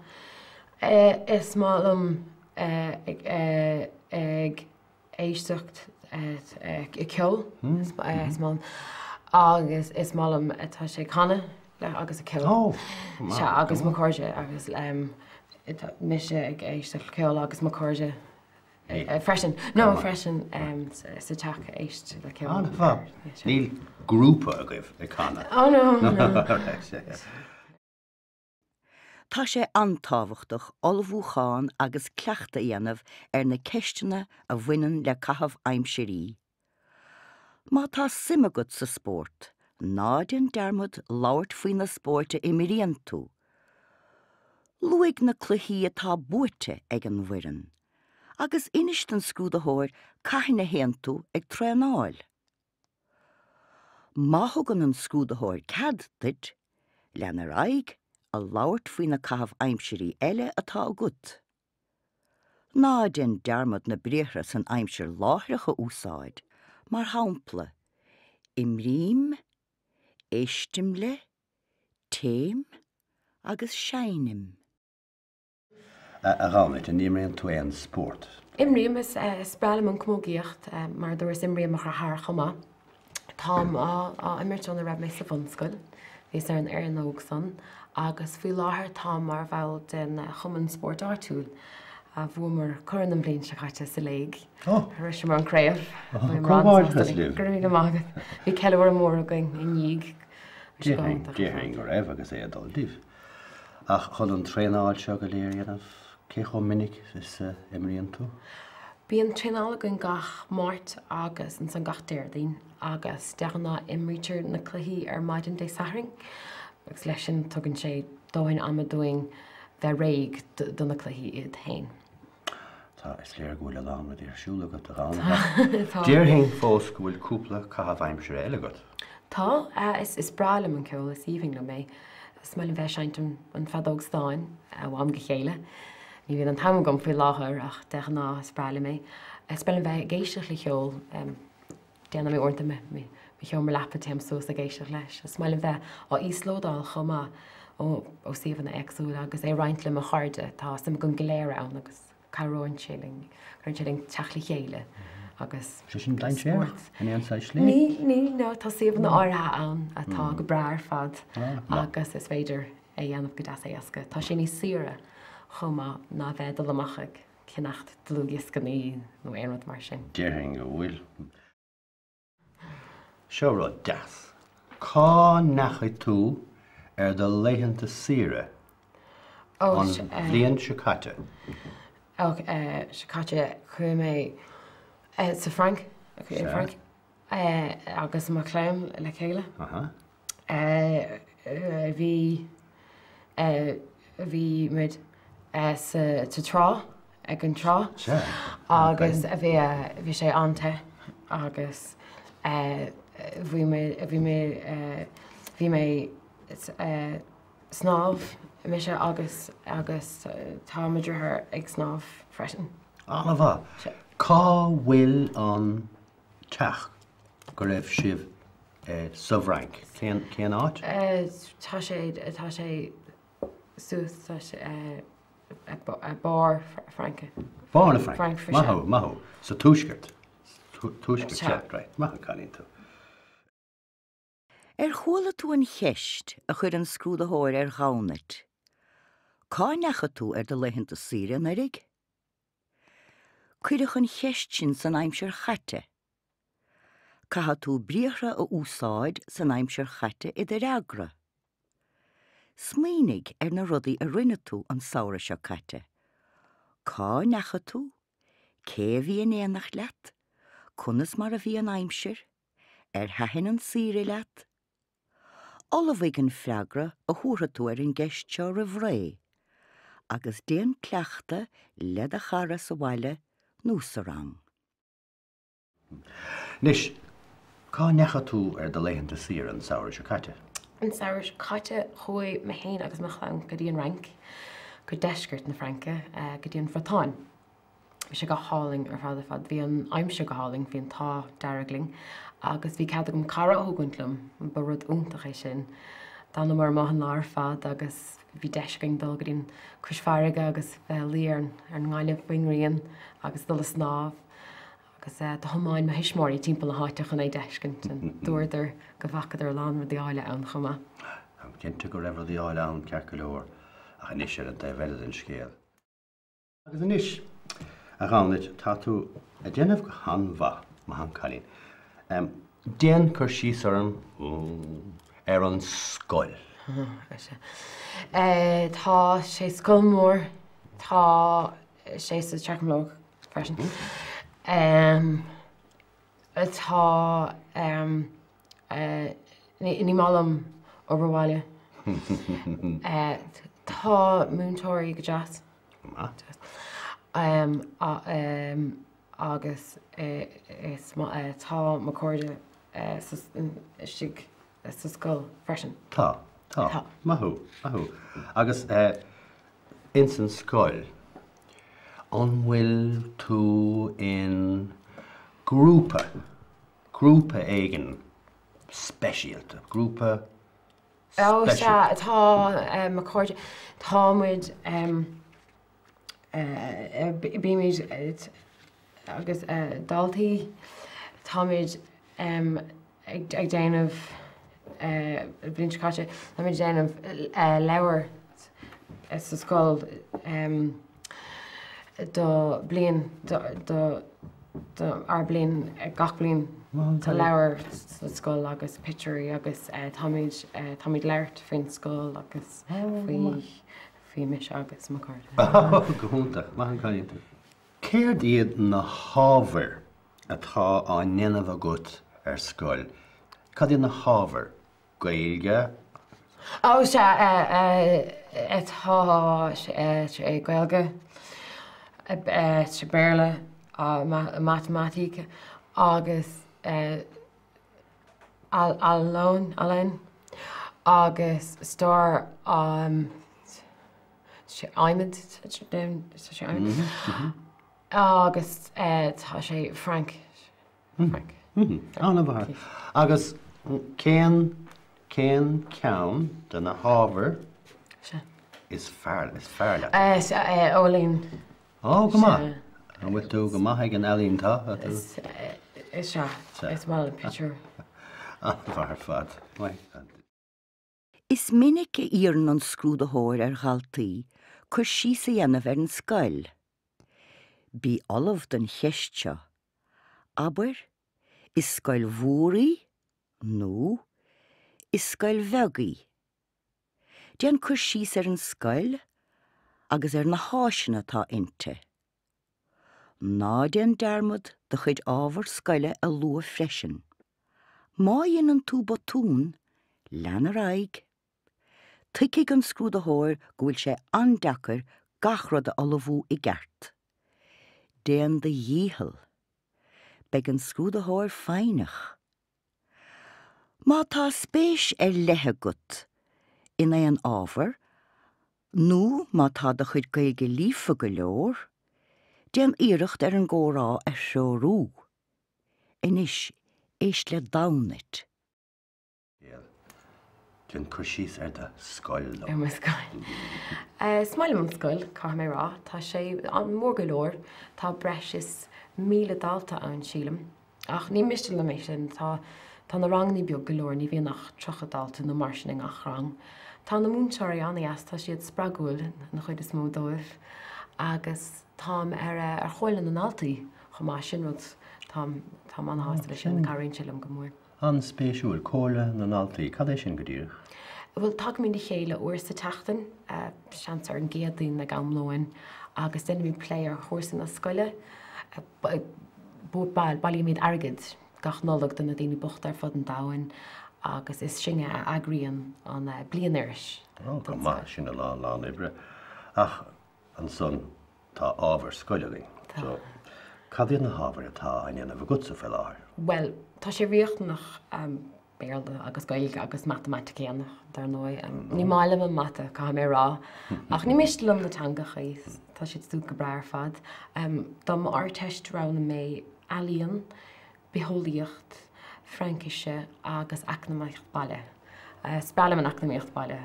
Is maith liom ag éisteacht le ceol, is maith liom, agus is maith liom tá sé canadh agus ag ceol. Sea, agus mo chairde agus mise ag éisteacht le ceol agus mo chairde freisin. No, freisin sa teach éist le ceol. An-mhaith. Níl grúpa agaibh ag canadh? Oh no, no. Tá sé an-tábhachtach ullmhúchán agus cleachtadh a dhéanamh ar na ceisteanna a bhaineann le caitheamh aimsirí. Má tá suim agat sa spórt, ná déan dearmad labhairt faoi na spóirt a imríonn tú. Luaigh na cluichí atá buaite ag an bhfoireann, agus inis don scrúdaitheoir cathain a théann tú ag traenáil. Má thugann an scrúdaitheoir cead duit, lean ar aghaidh a labhairt faoi na caithimh aimsirí eile atá agat. Ná déan dearmad na briathra san aimsir láithreach a úsáid, mar shampla, Imrím, éistim le, téim agus seinnim. A Ghobnait, an imríonn tú aon spórt? Imrím, is breá liom an camógaíocht, mar a dúras imríonn mo dheartháir chomh maith. Táim á imirt óna raibh mé sa bhunscoil, bhíos ar an fhoireann óg san, agus faoi láthair táim mar bhall den chumann spóirt áitiúil. Bhuamar corn an bhliain seo caite sa léig. Shroiseamar an craobh. Comhghairdeas libh! Go raibh míle maith agat. Bhí ceiliúradh mór againn i ndiaidh. Déarfainn go raibh agus é ag dul libh. Ach chun an traenáil seo go léir a dhéanamh, cé chomh minic is a imríonn tú? Bíonn traenáil againn gach Máirt agus ansan gach Déardaoin agus de ghnáth imrítear na cluichí ar maidin Dé Sathairn agus leis sin tugann sé dóthain ama dúinn bheith réidh do na cluichí iad féin. Tá, is léir go bhfuil a lán rudaí ar siúl agat, a Ghobnait, ach déarfainn fós go bhfuil cúpla caitheamh aimsire eile agat. Tá, is breá liom an ceol, is aoibhinn liom é. Is maith liom bheith ag seinnt an feadóg stáin ó am go chéile. Ní bhíonn an t-am agam faoi láthair ach de ghnáth is breá liom é. Is breá liom bheith ag éisteacht le ceol. Déanaim é uaireanta i mo sheomra leapa, téim suas ag éisteacht leis. Is maith liom bheith á íoslódáil chomh maith ó suíomhanna éagsúla agus é a roinnt le mo chairde. Tá suim againn go léir ann agus cabhraíonn sé linn, cuireann sé linn teacht le chéile agus Sé sin dainséarach in aon saghas slí? Níl, níl, no, tá suíomhanna áirithe ann atá go breá ar fad agus is féidir é a dhéanamh go deas éasca. Tá sé níos saoire chomh maith ná bheith ag dul amach ag ceannacht dlúthdhioscannaí nó aon rud mar sin. Déarfainn go bhfuil. Seo rud deas. Cá ndeachaigh tú ar do laethanta saoire an bhliain seo caite? Ó, seo caite, chuaigh mé sa Fhrainc, agus mo chlann le chéile. Bhí, bhí muid sa trá, ag an trá agus bhí, bhí sé an-te agus bhí mé, bhí mé, bhí mé snámh, mise agus, agus tá mo dheartháir ag snámh freisin. An-mhaith. Cá bhfuil an teach go raibh sibh sa bhFrainc? Cén, cén áit? Tá sé, tá sé suas, tá sé barr Fraince. Barr na Fraince. Maith thú, maith thú. Sa tuaisceart. Tuaisceart, sea, right. Maith an cailín tú. Ar chuala tú an cheist a chuir an scrúdaitheoir ar Ghobnait, Cá ndeachaigh tú ar do laethanta saoire anuraidh? Cuireadh an cheist sin san aimsir chaite. Caithfidh tú briathra a úsáid san aimsir chaite i do fhreagra. Smaoinigh ar na rudaí a rinne tú an samhradh seo caite. Cá ndeachaigh tú? Cé a bhí in éineacht leat? Conas mar a bhí an aimsir? Ar thaitin an saoire leat? Ullmhaigh an freagra a thabharfaidh tú ar an gceist seo roimh ré agus déan cleachtadh le do chara sa bhaile nó sa rang. Anois, cá ndeachaigh tú ar do laethanta saoire an samhradh seo caite? An samhradh seo caite, chuaigh mé féin agus mo chlann go dtí an Fhrainc, go deisceart na Fraince, go dtí an Bhriotáin. Bhí sé go hálainn ar fad ar fad. Bhí an aimsir go hálainn, bhí an t-ádh dearg linn agus bhí cead agam cara a thógaint liom, ba rud iontach é sin. D'fhanamar amuigh an lá ar fad agus bhí deis againn dul go dtí an cois farraige agus bheith ag luí ar an ngaineamh faoin ngrian agus dul ag snámh agus do thiomáin mo thuismitheoirí timpeall na háite chun é d'fheiscint and dúradar go bhfacadar a lán rudaí áille ann chomh maith. Táim cinnte go raibh rudaí áille ann ceart go leor ach anois ar an taobh eile den scéal. Agus anois, a Ghobnait, tá tú ag déanamh go han-mhaith, maith an cailín. Déan cur síos orm ar an scoil. Tá sé scoil mór, tá sé sa Teach Mológ freisin. Tá Ní maith liom obair bhaile. Tá múinteoirí go deas. Agus is tá mo chairde istigh sa scoil freisin. Tá, tá. Maith thú, maith thú. Agus ins an scoil, an bhfuil tú in grúpa? grúpa éigin. speisialta, grúpa Ó, sea, tá mo chairde, tá muid, bímid agus daltaí, táimid ag déanamh, bliain seo caite, táimid ag déanamh leabhar sa scoil do bliain, do ár bliain, gach bliain tá leabhar sa scoil agus pictiúirí agus táimid, táimid labhairt faoin scoil agus faoi, faoi mise agus mo chairde. Go hiontach, maith an cailín tú. Céard iad na hábhair atá á ndéanamh agat ar scoil? Cad iad na hábhair? Gaeilge? Ó sea, tá sé Gaeilge, Béarla, Matamaitic agus Ealaín agus Stair Adhmaid, tá sé adhmad agus tá sé Fraincis. An-mhaith. Agus cén, cén ceann de na hábhair is fearr, is fearr leat? Ealaín. Ó, go maith. An bhfuil tú go maith ag an ealaín, tá? Is ea, is maith liom pictiúir. An-mhaith ar fad. Maith. Is minic a iarrann an scrúdaitheoir ar dhaltaí cur síos a dhéanamh ar an scoil. Bí ullamh don cheist seo. Abair, 'Is scoil mhór í' nó 'Is scoil bheag í'. Déan cur síos ar an scoil agus ar na háiseanna atá inti. Ná déan dearmad do chuid ábhar scoile a lua freisin. Má dhéanann tú botún, lean ar aghaidh. Tuigfidh an scrúdaitheoir go bhfuil sé an-deacair gach rud a ullmhú i gceart. Déan do dhícheall. Beidh an scrúdaitheoir foighneach. Má tá spéis ar leith agat in aon ábhar nó má tá do chuid Gaeilge líofa go leor, déan iarracht ar an gcomhrá a threorú. Anois, éist le Damhnait. Déan cur síos ar do scoil dom. Ar mo scoil. Is maith liom an scoil, caithfidh mé a rá. Tá sé mór go leor. Tá breis is 1,000 dalta ann, sílim. Ach ní miste liom é sin. Tá tá na ranganna beag go leor, ní bhíonn ach 30 dalta nó mar sin i ngach rang. Tá na múinteoirí an-deas, tá siad spreagúil, an chuid is mó dóibh. Agus táim ar ar Chomhairle na nDaltaí chomh maith, sin rud, táim táim an-shásta leis sin, cabhraíonn sé liom go mór. An-spéisiúil, Comhairle na nDaltaí, cad é sin go díreach? Bhuel, tagaimid le chéile uair sa tseachtain, seans ar an gCéadaoin ag am lóin, agus déanaimid plé ar chúrsaí na scoile. Bailímid airgead gach Nollaig do na daoine bochta ar fud an domhain agus is sinne a eagraíonn an bliainiris. Ó, go maith, sin a lán lán oibre. Ach ansan tá ábhair scoile againn. Tá. So, cad iad na hábhair atá á ndéanamh agatsa faoi láthair? Bhuel, tá sé riachtanach Béarla agus Gaeilge agus Matamaitic a dhéanamh, dar ndóigh. Ní maith liom an mata, caithfidh mé a rá. Ach ní miste liom na teangachaí, tá siad siúd go breá ar fad. Dom Ardteist roghnaigh mé Ealaíon, Bitheolaíocht, Fraincise agus Eacnamaíocht Baile. Is breá liom an Eacnamaíocht Baile.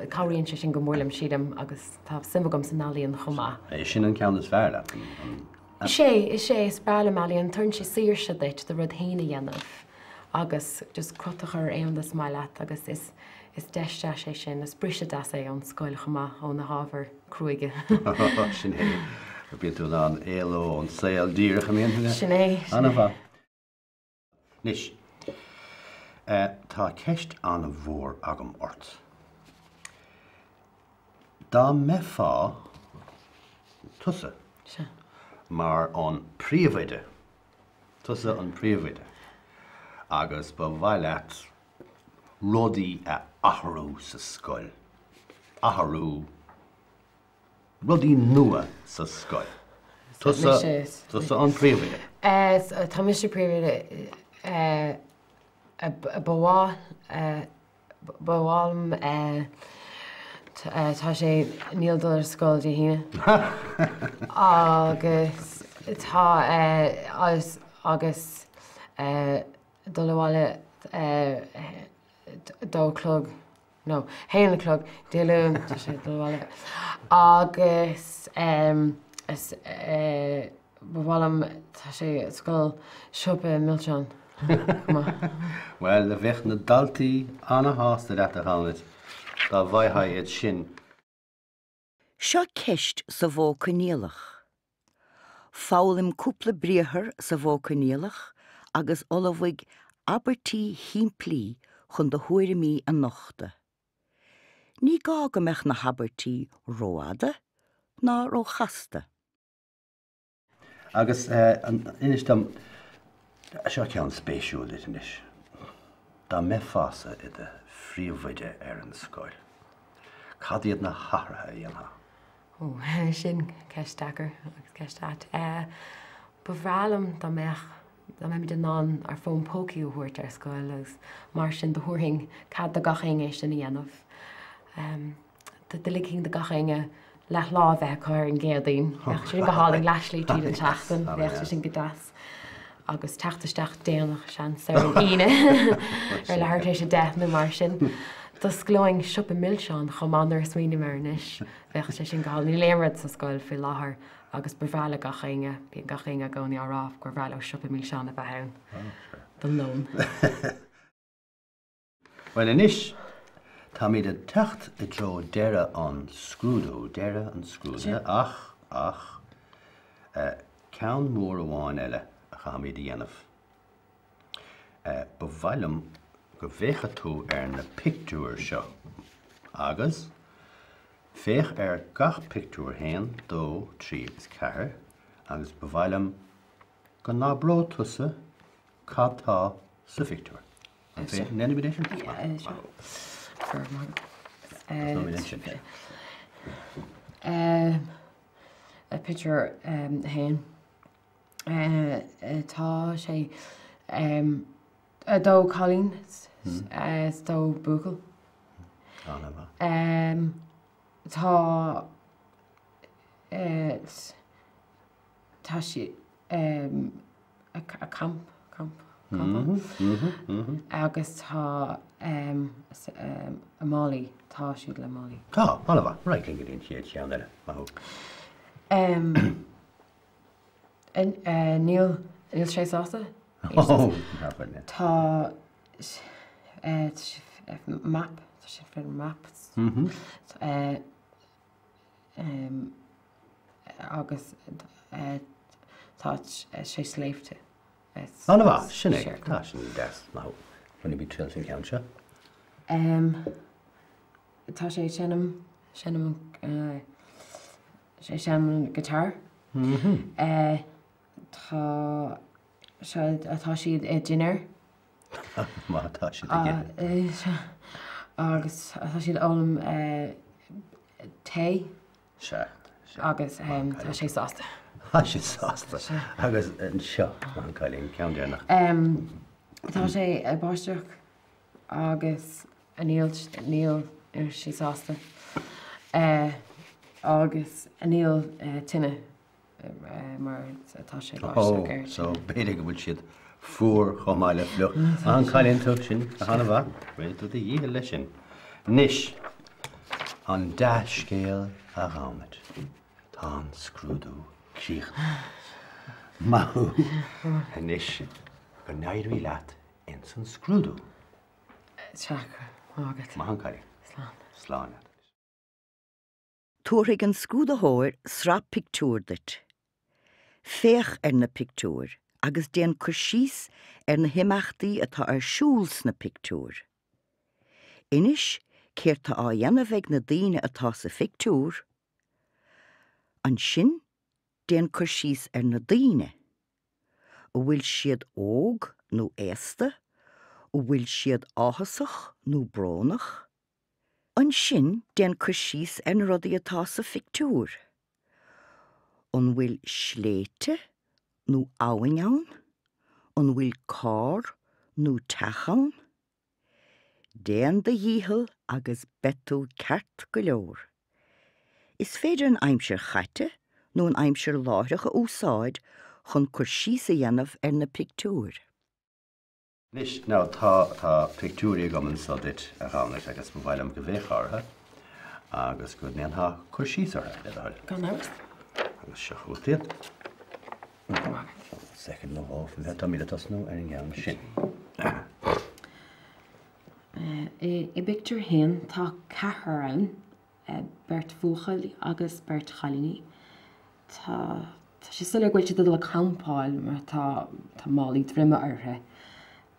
Cabhraíonn sé sin go mór liom, sílim, agus tá suim agam san ealaíon chomh maith. É sin an ceann is fearr leat, an. Is é, is é, is breá liom ealaíon. Tugann sé saoirse duit do rud féin a dhéanamh agus just crot a chur ar aon rud is maith leat agus is is deis deas é sin, is briseadh deas é ón scoil chomh maith, ó na hábhair cruaidhe. Sin é. Bíonn tú in ann éaló ón saol díreach, an mbíonn? Sin é. An-mhaith. Anois, tá ceist an-mhór agam ort. Dá mbeifeá tusa mar an príomhoide, tusa an príomhoide, agus ba mhaith leat rudaí a athrú sa scoil, athrú, Rudaí nua sa scoil. Tusa, tusa an príomhoide. Tá mise príomhoide. Ba mhaith, ba mhaith liom, tá sé, níl dul ar scoil Dé hAoine. Agus tá, agus dul abhaile. 2 a chlog, no, 1 a chlog Dé Luain, tá sé ag dul abhaile. Agus is ba mhaith liom, tá sé ag scoil, siopa milseán chomh maith. Bhuel, bheadh na daltaí ana-shásta leat, a Ghobnait, dá bhfaigheá iad sin. Seo ceist sa mhodh coinníollach. Foghlaim cúpla briathar sa mhodh coinníollach agus ullmhaigh abairtí shimplí chun do thuairimí a nochtadh. Ní gá go mbeadh na habairtí rófhada ná róchasta. Agus inis dom, seo ceann spéisiúil duit anois, dá mbeifeása i do phríomhoide ar an scoil, cad iad na hathruithe a dhéanfá? Ó, sin ceist deacair agus ceist ait. Ba bhreá liom dá mbeadh, dá mbeimid in ann ár bhfón pócaí a thabhairt ar scoil agus mar sin do thabharfainn cead do gach éinne é sin a dhéanamh. Do ligfinn do gach éinne leathlá a bheith acu ar an gCéadaoin. Bheadh sin go hálainn leathshlí tríd an tseachtain, bheadh sé sin go deas. Agus teacht isteach déanach, seans, ar an Aoine, ar leathuair tar éis 10 nó mar sin. D'osclóinn siopa milseán chomh maith nuair a smaoiním air anois. Bheadh sé sin go hálainn. Níl aon rud sa scoil faoi láthair agus ba bhreá le gach éinne, bíonn gach éinne i gcónaí á rá gur bhreá leo siopa milseán a bheith ann don lón. Bhuel anois, táimid ag teacht i dtreo deireadh an scrúdú, deireadh an scrúdaithe, ach, ach, eh, ceann mór amháin eile a chaithfimid a dhéanamh. Eh, ba mhaith liom go bhféachfadh tú ar na pictiúir seo agus féach ar gach pictiúr, haon, dó, trí agus ceathair, agus ba mhaith liom go n-abródh tusa cad tá sa phictiúr. An ndéanfaimid é sin? Tosóimid ansin. Pictiúr 1. Tá sé 2 cailín is 2 buachaill. Tá tá sí ag camp, camp, campáil agus tá málaí, tá siad le málaí. Tá, an-mhaith. Ar aghaidh linn go dtí an chéad cheann eile. Maith thú. Níl, níl sé sásta. Tá map, tá sé fé map. Agus tá sé sléibhte. An-mhaith, sin é. Tá sin deas, maith thú. Bainfimid triail as an cheann seo. Tá sé ag seinm, seinm, sé ag seinm an guitar. Tá sé, tá siad ag dinnéar. Má tá siad ag ithe. Agus tá siad ag ól tae. Sea. Agus tá sé sásta. Tá sé sásta. Agus anseo, maith an cailín, ceann deireanach. Tá sé ag báisteach agus níl níl sé sásta. Agus níl tine. mar tá sé ag báisteach air. So b'fhéidir go bhfuil siad fuar chomh maith le fliuch. Maith an cailín tú, sin an-mhaith. Rinne tú do dhícheall leis sin. Anois, an dea-scéal a Ghobnait. Tá an scrúdú críochnaithe. Maith thú. Anois, go n-éirí leat ins an scrúdú. Sea, maith agat. Maith an cailín. Slán. Slán leat. Tabharfaidh an scrúdaitheoir sraith pictiúr duit. Féach ar na pictiúir agus déan cur síos ar na himeachtaí atá ar siúl sna pictiúir. Inis céard tá á dhéanamh ag na daoine atá sa phictiúr. Ansin déan cur síos ar na daoine. An bhfuil siad óg nó aosta? An bhfuil siad áthasach nó brónach? Ansin déan cur síos ar na rudaí atá sa phictiúr. An bhfuil sléibhte nó abhainn ann? An bhfuil carr nó teach ann? Déan do dhícheall agus beidh tú ceart go leor. Is féidir an aimsir chaite nó an aimsir láithreach a úsáid chun cur síos a dhéanamh ar na pictiúir. Anois, now, tá, tá pictiúirí agam anso duit, a Ghobnait, agus ba mhaith liom go bhféachfá orthu agus go ndéanfá cur síos orthu, le do thoil. Gan amhras. Agus seo chugat iad. Soicind nó dhó, táimid ag tosnú ar an gceann sin. I bpictiúr a haon tá ceathrar ann. beirt bhuachaillí agus beirt chailíní. Tá tá sé soiléir go bhfuil siad ag dul ag campáil mar tá tá málaí droime orthu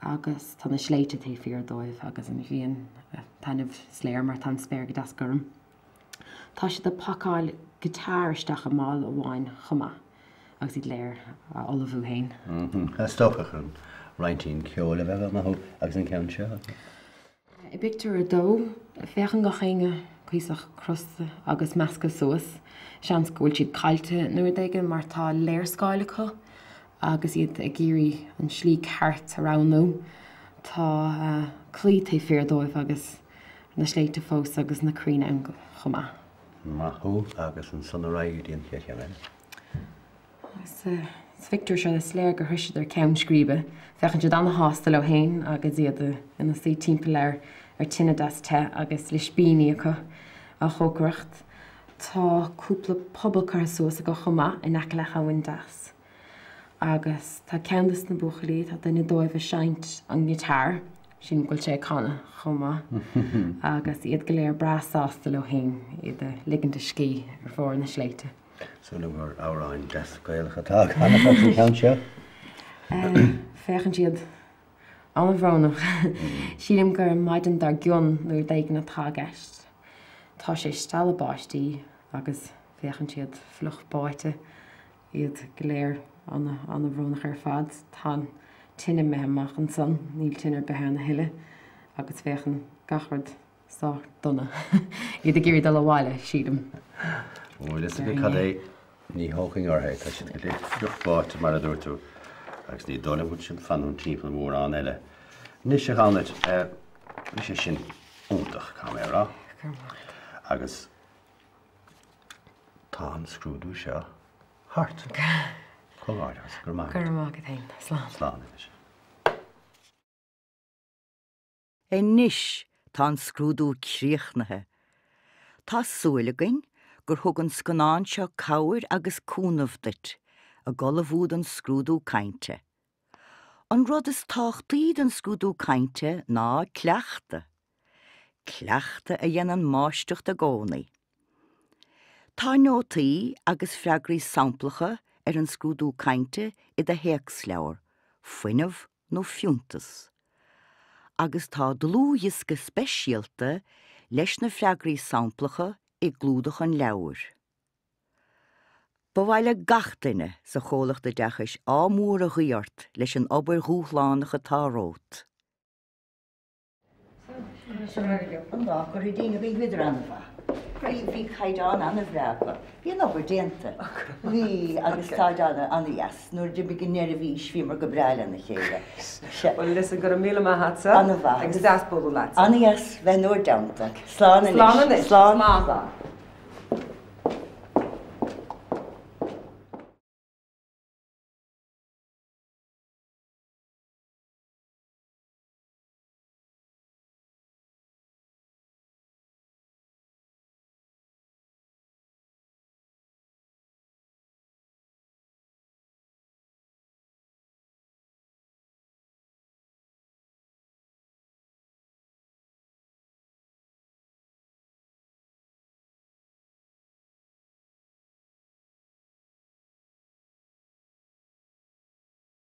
agus tá na sléibhte taobh thiar dóibh agus an ghrian ag taitneamh is léir mar tá an spéir go deas gorm. Tá siad ag pacáil guitar isteach i mála amháin chomh maith agus iad léir á ullmhú féin. Is dócha chun roinnt ceoil a bheith acu agus an ceann seo. I bpictiúr a dó, féachann gach éinne cuíosach crosta agus measctha suas. Seans go bhfuil siad caillte nó rud éigin mar tá léarscáil acu agus iad ag iarraidh an slí ceart a roghnú. Tá claí taobh thiar dóibh agus na sléibhte fós agus na crainn ann chomh maith. Maith thú agus ansan ar aghaidh go dtí an chéad cheann eile. Sa phictiúr seo is léir gur shroiseadar ceann scríbe. Féachann siad an-shásta leo féin agus iad ina suí timpeall ar tine deas te agus ispíní acu á chócaireacht. Tá cúpla puball curtha suas acu chomh maith in aice le habhainn deas. Agus tá ceann de na buachaillí, tá duine dóibh ag seinnt an guitar, sílim go bhfuil sé ag canadh chomh maith, agus iad go léir breá sásta leo féin, iad ag ligint a scíth ar bharr na sléibhte. Súil agam gur amhráin deas Gaelach atá á gcanadh acu sa cheann seo. Féachann siad an-bhrónach. Sílim gur an maidin dár gcionn nó rud éigin atá i gceist. Tá sé ag stealladh báistí agus féachann siad fliuch báite, iad go léir an-bhrónach ar fad. Tá an tine imithe amach ansan, níl tine ar bith ann a thuilleadh agus féachann gach rud sách dona. Iad ag iarraidh dul abhaile, sílim. Bhfuil fhios agat cad é, ní thógfainn orthu é, tá siad go léir fliuch báite mar a dúirt tú, agus ní dóigh liom go bhfuil siad ag fanúint timpeall mórán eile. Anois a Ghobnait, bhí sé sin iontach, caithfidh mé a rá. Go raibh maith agat. Agus tá an scrúdú seo thart. Comhghairdeas, go raibh maith agat. Go raibh maith agat féin. Slán. Slán anois. Anois tá an scrúdú críochnaithe. Tá súil againn gur thug an scannán seo cabhair agus cúnamh duit ag ullmhú don scrúdú cainte. An rud is tábhachtaí don scrúdú cainte ná cleachtadh. Cleachtadh a dhéanann máistreacht i gcónaí. Tá nótaí agus freagraí samplacha ar an scrúdú cainte i do théacsleabhar, Fuinneamh nó Fiúntas. Agus tá dlúthdhiosca speisialta leis na freagraí samplacha i gclúdach an leabhair. Ba mhaith le gach duine sa Chomhlacht Oideachais ádh mór a ghuí ort leis an obair dhúshlánach atá romhat. An lá curtha dínn againn bhíodar an-mhaith. Bhí, bhí caighdeán an-bhreá acu. Bhí an obair déanta. Bhí, agus táid an-dheas. Nuair a d'imigh an neirbhís, bhíomar go breá lena chéile. Bhuel, listen, go raibh míle maith agatsa. An-mhaith. Agus deas bualadh leat. An-dheas bheith in bhur dteannta. Slán anois. Slán anois. Slán. Slán.